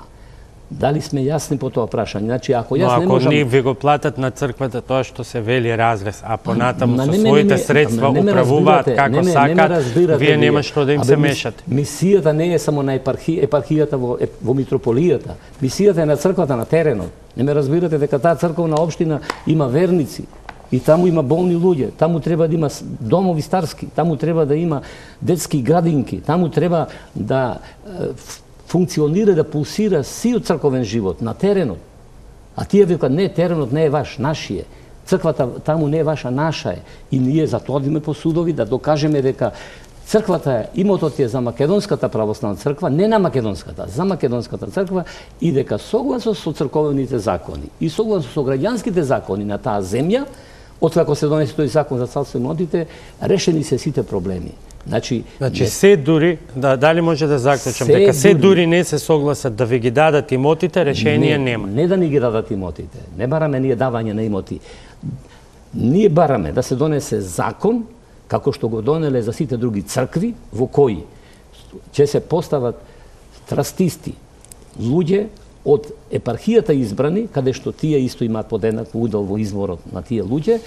Дали сме јасни по тоа прашање? Значи, ако јас не можам... Но ако ви го платат на црквата тоа што се вели разрез, а понатаму со своите средства управуваат како сакат, вие нема што да им се мешате. Мисијата не е само на епархијата во митрополијата. Мисијата е на црквата на теренот. Не ме разбирате дека таа црковна општина има верници и таму има болни луѓе, таму треба да има домови старски, таму треба да има детски градинки, таму треба да функционира, да пулсира сиот црковен живот на теренот. А тие викаат, не, теренот не е ваш, нашиот. Црквата таму не е ваша, наша е. И ние затоа одиме по судови да докажеме дека црквата е, имотот е за Македонската православна црква, не на Македонската, за Македонската црква, и дека согласно со црковните закони и согласно со граѓанските закони на таа земја, откако се донесе тој закон за царство и имотите, решени се сите проблеми. Значи се дури, дали може да заклучам, дека се дури не се согласат да ви ги дадат имотите, решение нема. Не да ни ги дадат имотите, не бараме ние давање на имоти. Ние бараме да се донесе закон, како што го донеле за сите други цркви, во кои ќе се постават трастисти, луѓе од епархијата избрани, каде што тие исто имаат подеднак удел во изворот на тие луѓе,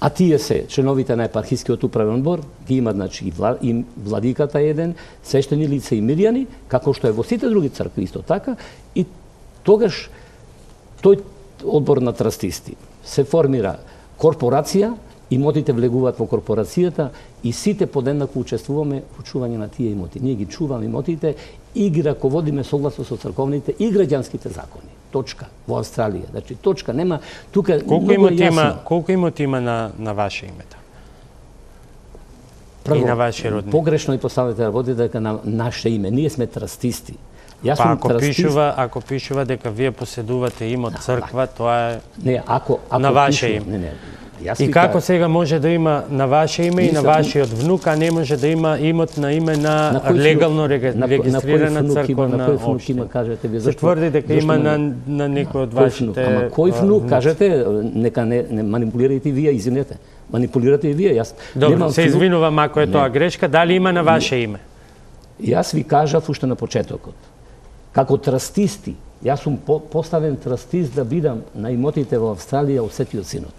а тие се членовите на епархискиот управен одбор, ги имат, значи, и владиката еден, свештени лица и мирјани, како што е во сите други цркви исто така, и тогаш тој одбор на трастисти се формира корпорација, имотите влегуваат во корпорацијата и сите подеднако учествуваме во чување на тие имоти. Ние ги чуваме имотите и ги раководиме согласно со црковните и граѓанските закони. Точка. Во Австралија. Значи, точка. Нема... Тука колку имоти има на ваше името? Прво, и на ваши родни? Погрешно и поставите работи дека на наше име. Ние сме трастисти. Јас па сум ако трастист... ако пишува дека вие поседувате имот црква, тоа е не, ако на ваше име. Не. И како сега може да има на ваше име и на вашиот внук, а не може да има имот на име на легално регистрирана црковна општина? Кажете ви зашто? Се тврди дека има на некој од вашите... Ама кој внук, кажете, нека не манипулирајте вие, извинете. Манипулирате и вие, јас... Добро, се извинувам ако е тоа грешка, дали има на ваше име? Јас ви кажав уште на почетокот. Како трастисти, јас сум поставен трастист да бидам на имотите во Австралија од Светиот Синод.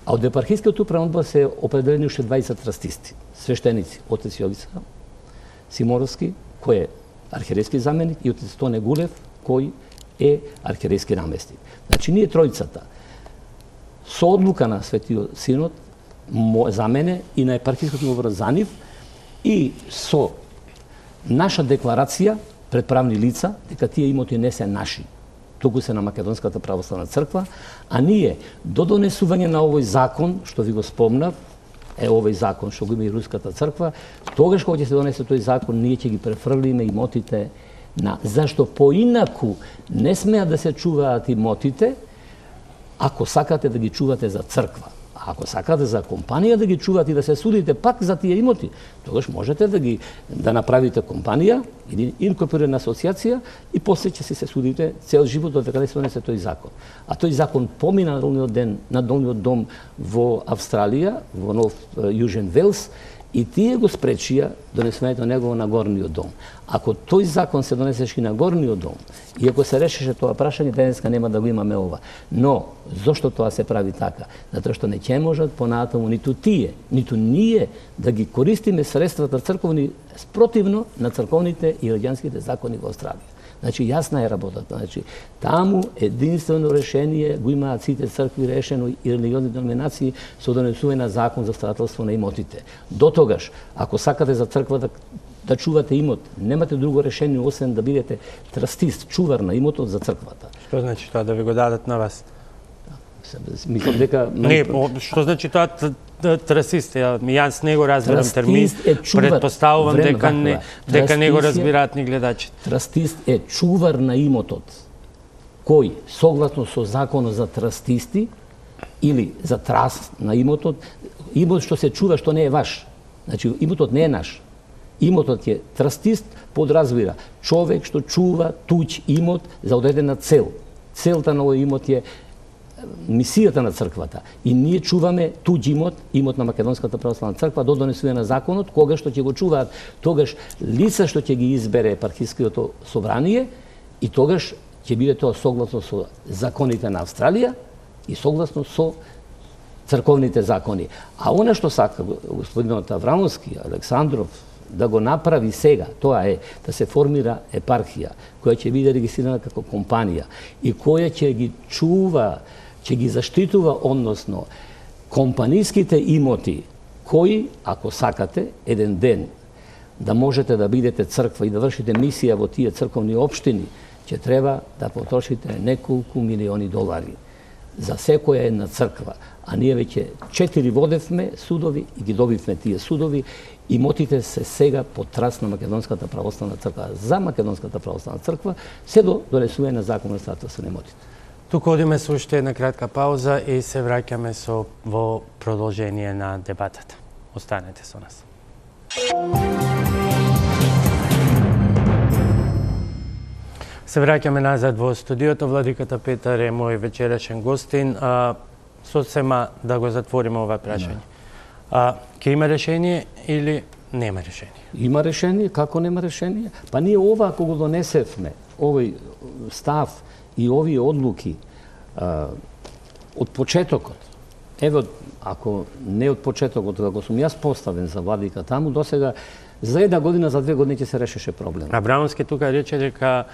А од епархискиот управен одбор се определени уште 20 трастисти, свештеници, отец Јовица Симоровски, кој е архиерейски заменик, и отец Тоне Гулев, кој е архиерейски наместник. Значи, ние тројцата, со одлука на Светиот Синод, за мене и на епархискиот управен за нив, и со наша декларација пред правни лица, дека тие имоти не се наши, туку се на Македонската православна црква, а ние до донесување на овој закон, што ви го спомнав, е овој закон што го има и Руската црква, тогаш кога ќе се донесе тој закон, ние ќе ги префрлиме имотите на... Зашто поинаку не смеат да се чуваат имотите, ако сакате да ги чувате за црква. А ако сакате за компанија да ги чувате и да се судите пак за тие имоти, тогаш можете да направите компанија или инкорпорирана асоциација и после ќе се судите цел живот до дека се донесе тој закон. А тој закон помина на долниот дом во Австралија, во Нов Јужен Велс, и тие го спречија донесувањето на него на горниот дом. Ако тој закон се донесеше и на горниот дом, и ако се решеше тоа прашање, денеска нема да го имаме ова. Но, зошто тоа се прави така? Затоа што не ќе можат понатаму ниту тие, ниту ние да ги користиме средствата црковни спротивно на црковните и граѓанските закони во Австралија. Значи, јасна е работата. Значи, таму единствено решение го имаат сите цркви решено и религиозни деноминации со донесување на закон за строителство на имотите. До тогаш, ако сакате за црква да чувате имот, немате друго решение освен да бидете трастист, чувар на имотот за црквата. Што значи тоа, да ви го дадат на вас? Мислам дека Не, што значи тоа трасист? Јас не го разбирам термин. Предпоставувам дека не го разбираат ни гледачите. Трастист е чувар на имотот, кој согласно со законот за трастисти или за траст на имотот, имот што се чува што не е ваш. Значи имотот не е наш. Имотот е трастист, подразбира човек што чува туѓ имот за одредена цел. Целта на овој имот е мисијата на црквата. И ние чуваме туѓ имот, имот на Македонската православна црква, до донесување на законот, кога што ќе го чуваат тогаш лица што ќе ги избере епархиското собрание и тогаш ќе биде тоа согласно со законите на Австралија и согласно со црковните закони. А она што сака господинот Аврамовски, Александров, да го направи сега, тоа е да се формира епархија, која ќе биде регистрирана како компанија и која ќе ги чува, ќе ги заштитува, односно, компанијските имоти, кои, ако сакате, еден ден да можете да бидете црква и да вршите мисија во тие црковни општини, ќе треба да потрошите неколку милиони долари за секоја една црква. А ние веќе 4 водевме судови и ги добивме тие судови. Имотите се сега под траст на Македонската православна црква. За Македонската православна црква се до донесување на закон на статус на имотите. Тука одиме со уште една кратка пауза и се враќаме во продолжение на дебатата. Останете со нас. Се враќаме назад во студиото. Владиката Петар е мој вечерашен гостин. Сосема да го затвориме ова прашање. Ке има решение или нема решение? Има решение, како нема решение? Па ние ова, ако го донесевме, овој став и овие одлуки од почетокот, ево, ако не од почетокот, како сум јас поставен за владика таму, досега за една година, за 2 години ќе се решеше проблем. Абрамовски тука рече дека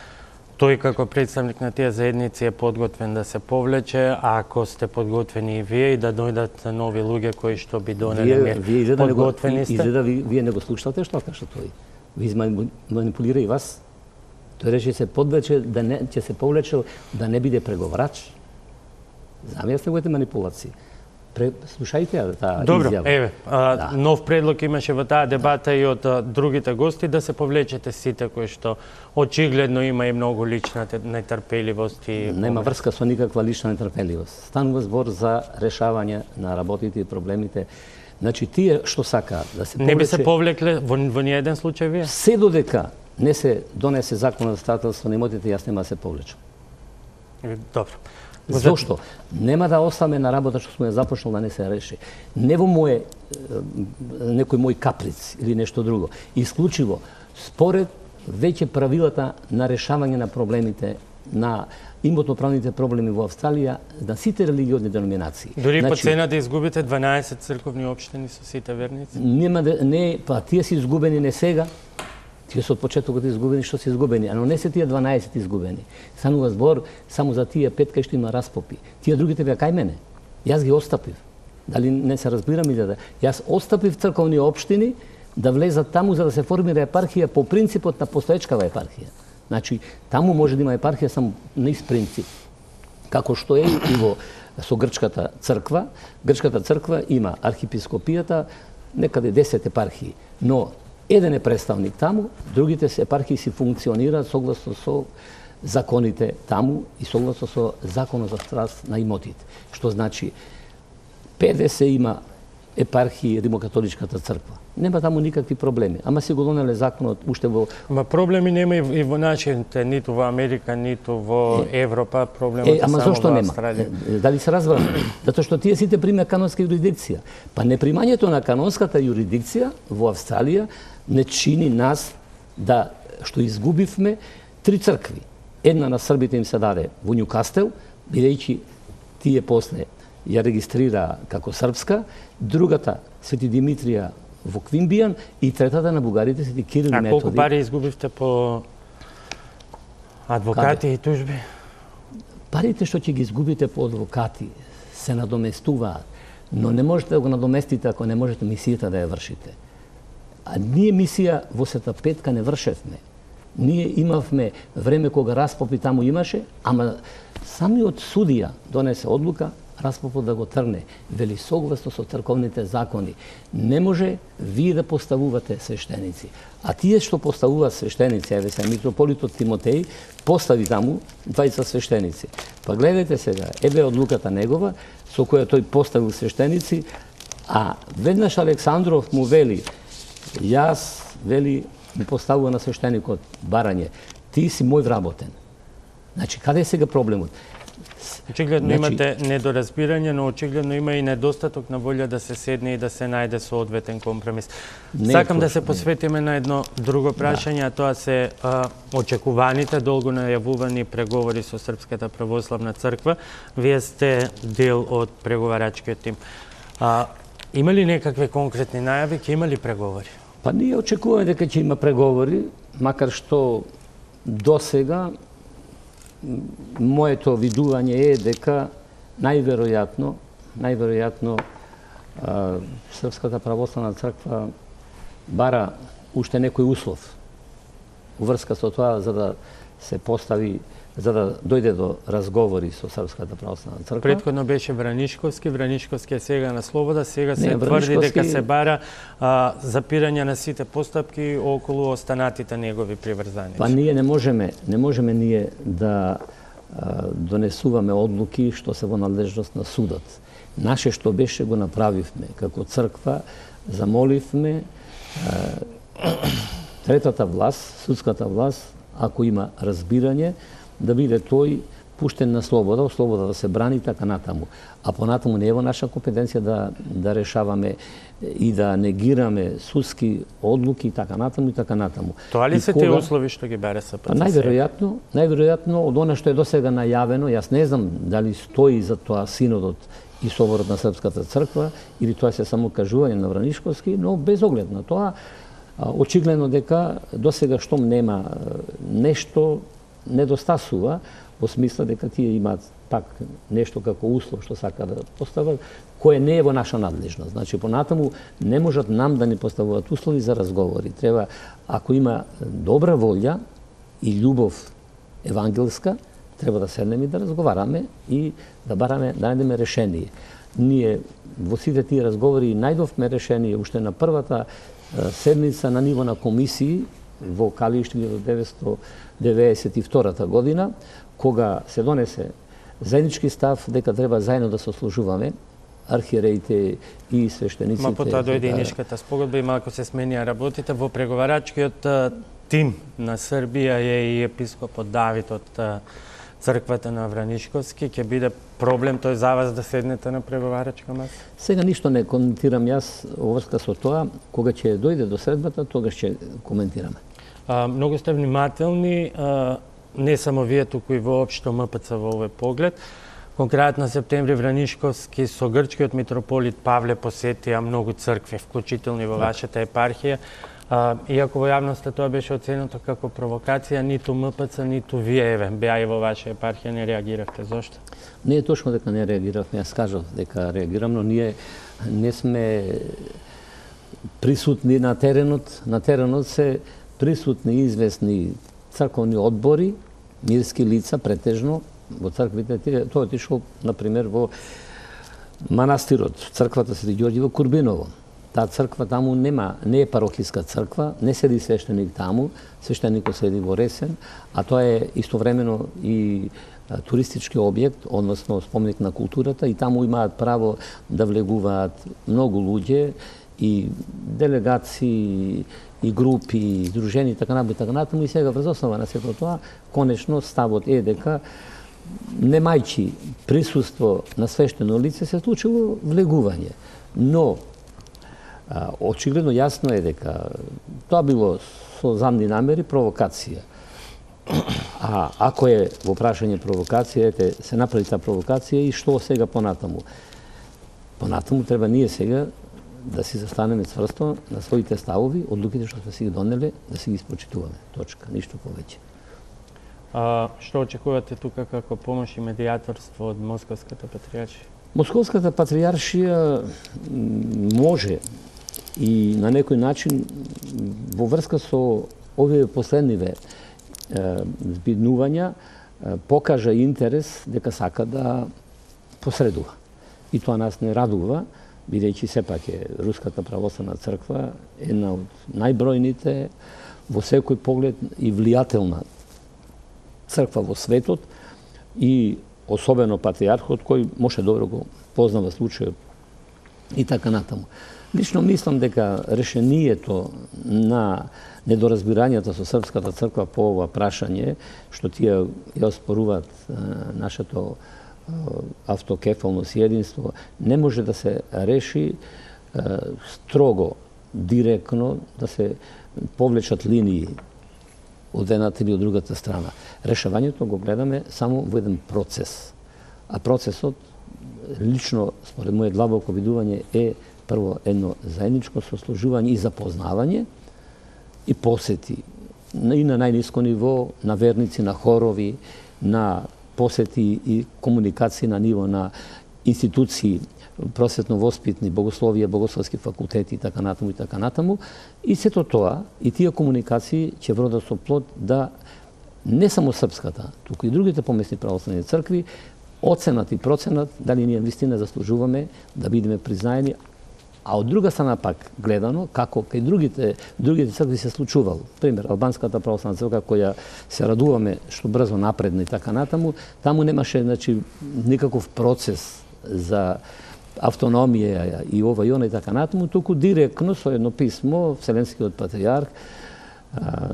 тој како представник на тие заедници е подготвен да се повлече, а ако сте подготвени и вие и да дојдат нови луѓе кои што би донеле подготвени сте. Изгледа вие не го слушате што каша тој. Ви манипулира и вас. Тој рече се подвлече да не ќе се повлече да не биде преговарач. Замијас неговите манипулации. Слушајте таа изјава. Добро, еве, нов предлог имаше во таа дебата и од другите гости да се повлечете сите кои што очигледно има и многу лична нетрпеливост и нема врска со никаква лична нетрпеливост. Станува збор за решавање на работите и проблемите. Значи тие што сакаат да се повлече. Не би се повлекле во ниеден случај вие? Се додека не се донесе закон за статус на имотите, јас нема да се повлечам. Добро. Зошто? Нема да остаме на работа што сме започнал да не се реши. Не во некој мој каприц или нешто друго. Исклучиво според веќе правилата на решавање на проблемите на имотно-правните проблеми во Австралија на сите религиозни деноминации. Дури по цена да изгубите 12 црковни општини со сите верници? Нема не, па тие се изгубени не сега. Тие се од почетокот изгубени што се изгубени, но не се тие 12 изгубени. Станува збор само за тие 5 кај што има распопи. Тие другите беа кај мене. Јас ги остапив. Дали не се разбирам или да? Јас остапив црковни општини да влезат таму за да се формира епархија по принципот на постоечкава епархија. Значи, таму може да има епархија само низ принцип. Како што е и со грчката црква. Грчката црква има архиепископијата, некаде 10 епархии, но еден е представник таму, другите епархии си функционираат согласно со законите таму и согласно со законот за траст на имотите. Што значи 50 има епархии Римокатоличката црква. Нема таму никакви проблеми. Ама си го донеле законот уште во... Ма проблеми нема и во нашите, ниту во Америка, ниту во Европа, проблемот е само во Австралија. Дали се разбраме? Затоа што тие сите приме канонска юрисдикција. Па непримањето на канонската юрисдикција во Австралија не чини нас да што изгубивме 3 цркви. Една на србите им се даде во Њукастел, бидејќи тие после ја регистрира како српска, другата Свети Димитрија во Квимбијан и третата на бугарите Свети Кирил и Методи. А колку пари изгубивте по адвокати и тужби? Парите што ќе ги изгубите по адвокати се надоместуваат, но не можете да го надоместите ако не можете мисијата да ја вршите. А ние мисија во Света Петка не вршевме. Ние имавме време кога распопи таму имаше, ама самиот судија донесе одлука Распопот да го трне. Вели согласно со црковните закони. Не може вие да поставувате свештеници. А тие што поставуваат свештеници, еве се митрополитот Тимотеј постави таму 20 свештеници. Па гледајте сега, еве одлуката негова со која тој поставил свештеници, а веднаш Александров му вели, јас, вели, му поставува на свештеникот барање, ти си мој вработен. Значи, каде е сега проблемот? Очигледно имате недоразбирање, но очигледно има и недостаток на волја да се седне и да се најде соодветен компромис. Сакам да се посветиме на едно друго прашање, а тоа се очекуваните, долго најавувани преговори со Српската православна црква. Вие сте дел од преговарачкиот тим. Има ли некакви конкретни најави, ќе има ли преговори? Па ние очекуваме дека ќе има преговори, макар што до сега моето видување е дека најверојатно Српската православна црква бара уште некој услов уврска со тоа за да се постави, за да дојде до разговори со Српската православна црква. Претходно беше Вранишковски е сега на слобода, сега се тврди дека се бара запирање на сите постапки околу останатите негови приврзаници. Па ние не можеме ние да донесуваме одлуки што се во надлежност на судот. Наше што беше го направивме како црква, замоливме третата власт, судската власт, ако има разбирање, да биде тој пуштен на слобода да се брани така натаму. А понатаму не е во наша компетенција да решаваме и да негираме судски одлуки така натаму. Тоа ли се тие услови што ги бара СПЦ? Најверојатно од она што е досега најавено, јас не знам дали стои за тоа синодот и соборот на Српската црква или тоа се само кажување на Вранишковски, но без оглед на тоа, очигледно дека досега штом нема нешто недостасува, во смисла дека тие имаат пак нешто како услов што сака да постават, кое не е во наша надлежност. Значи, понатаму не можат нам да ни поставуваат услови за разговори. Треба, ако има добра волја и љубов евангелска, треба да седнеме и да разговараме и да бараме, да најдеме решение. Ние во сите тие разговори најдовме решение уште на првата седница на ниво на комисии во Калиш 1992 година, кога се донесе заеднички став дека треба заедно да се сослужуваме, архиереите и свештениците. Потоа дојде и Нишката спогодба и малку се сменија работите. Во преговарачкиот тим на Србија е и епископот Давид од црквата на Вранишковски. Ќе биде проблем тој за вас да седнете на преговарачка маса? Сега ништо не коментирам јас во врска со тоа. Кога ќе дојде до средбата, тогаш ќе коментираме. Многу сте внимателни, не само вие, туку и воопшто МПЦ во овој поглед. Конкретно септември Вранишковски со грчкиот митрополит Павле посетија многу цркви, вклучително и во вашата епархија. Иако во јавноста тоа беше оценето како провокација, ниту МПЦ, ниту вие, беа и во ваша епархија, не реагиравте. Зошто? Не е точно дека не реагиравме, јас кажав дека реагирам, но ние не сме присутни на теренот. На теренот се присутни известни црковни одбори, мирски лица, претежно, во црквите. Тоа отишол, например, во манастирот, црквата Свети Ѓорѓи во Курбиново. Таа црква таму не е парохиска црква, не седи свештеник таму, свештеникот седи во Ресен, а тоа е истовремено и туристички објект, односно спомник на културата, и таму имаат право да влегуваат многу луѓе и делегации, и групи, и здружени, така натаму, и сега врз основа на сето тоа, конечно ставот е дека немајќи присуство на свештено лице се случило влегување. Но очигледно јасно е дека тоа било со замни намери провокација. А ако е во прашање провокација, се направи таа провокација и што сега понатаму? Понатаму треба ние сега да си застанеме цврсто на своите ставови, одлуките што сме си ги донеле, да си ги испочитуваме. Точка, ништо повеќе. Што очекувате тука како помош и медијаторство од Московската патријаршија? Московската патријаршија може и на некој начин во врска со овие последниве збиднувања покажа интерес дека сака да посредува. и тоа нас не радува, бидејќи сепак е Руската православна црква една од најбројните во секој поглед и влијателна црква во светот и особено патриархот кој може добро го познава случајот и така натаму. Лично мислам дека решението на недоразбирањата со Српската црква по ова прашање, што тие ја оспоруваат нашето автокефалност и единство, не може да се реши строго, директно, да се повлечат линии од едната или од другата страна. Решавањето го гледаме само во еден процес. А процесот, лично, според моје длабоко видување, е прво едно заедничко сослужување и запознавање и посети и на најниско ниво, на верници, на хорови, на посети и комуникации на ниво на институции, просветно-воспитни, богословија, богословски факултети и така натаму и така натаму. И сето тоа, и тие комуникации ќе вродат со плод да не само српската, туку и другите помесни православни цркви оценат и проценат дали ние вистина заслужуваме да бидеме признаени, а од друга страна пак гледано како кај другите цркви се случувало. Пример, албанската православна црква која се радуваме што брзо напредна и така натаму, таму немаше никаков процес за автономија и ова и она и така натаму, туку директно со едно писмо Вселенскиот патриарх,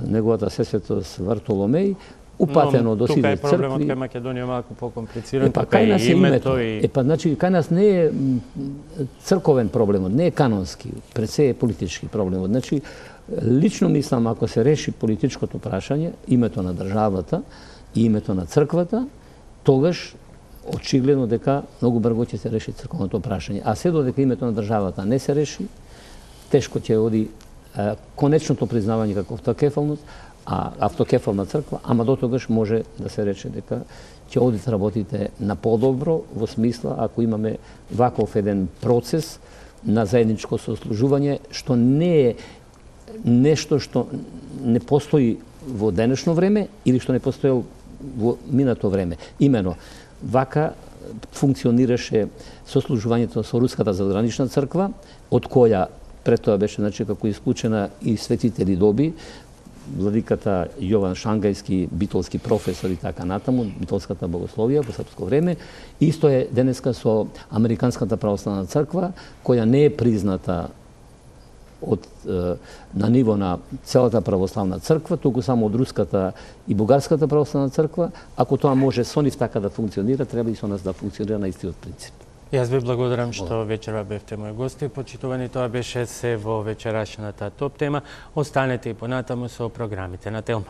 неговата сесветост Вартоломеј, упатено до сите цркви. Тука е проблемот кај Македонија малку покомплициран, тука е името. Значи, кај нас не е црковен проблемот, не е канонски, пред се е политички проблемот. Значи, лично мислам, ако се реши политичкото прашање, името на државата и името на црквата, тогаш очигледно дека многу брзо ќе се реши црковното прашање. А се додека името на државата не се реши, тешко ќе оди конечното признавање како автокефалност, автокефална црква, ама до тогаш може да се рече дека ќе одат работите на подобро, во смисла ако имаме ваков еден процес на заедничко сослужување, што не е нешто што не постои во денешно време или што не постоел во минато време. Имено, вака функционираше сослужувањето со Руската задгранична црква, од која пред тоа беше како исклучена и светители доби, владиката Јован Шангајски, битолски професор и така натаму, битолската богословија во српско време. Исто е денеска со Американската православна црква, која не е призната на ниво на целата православна црква, туку само од Руската и Бугарската православна црква. Ако тоа може со нив така да функционира, треба и со нас да функционира на истиот принцип. Јас ви благодарам што вечерва бевте мој гости. Почитувани, тоа беше се во вечерашната топ тема. Останете и понатаму со програмите на Телма.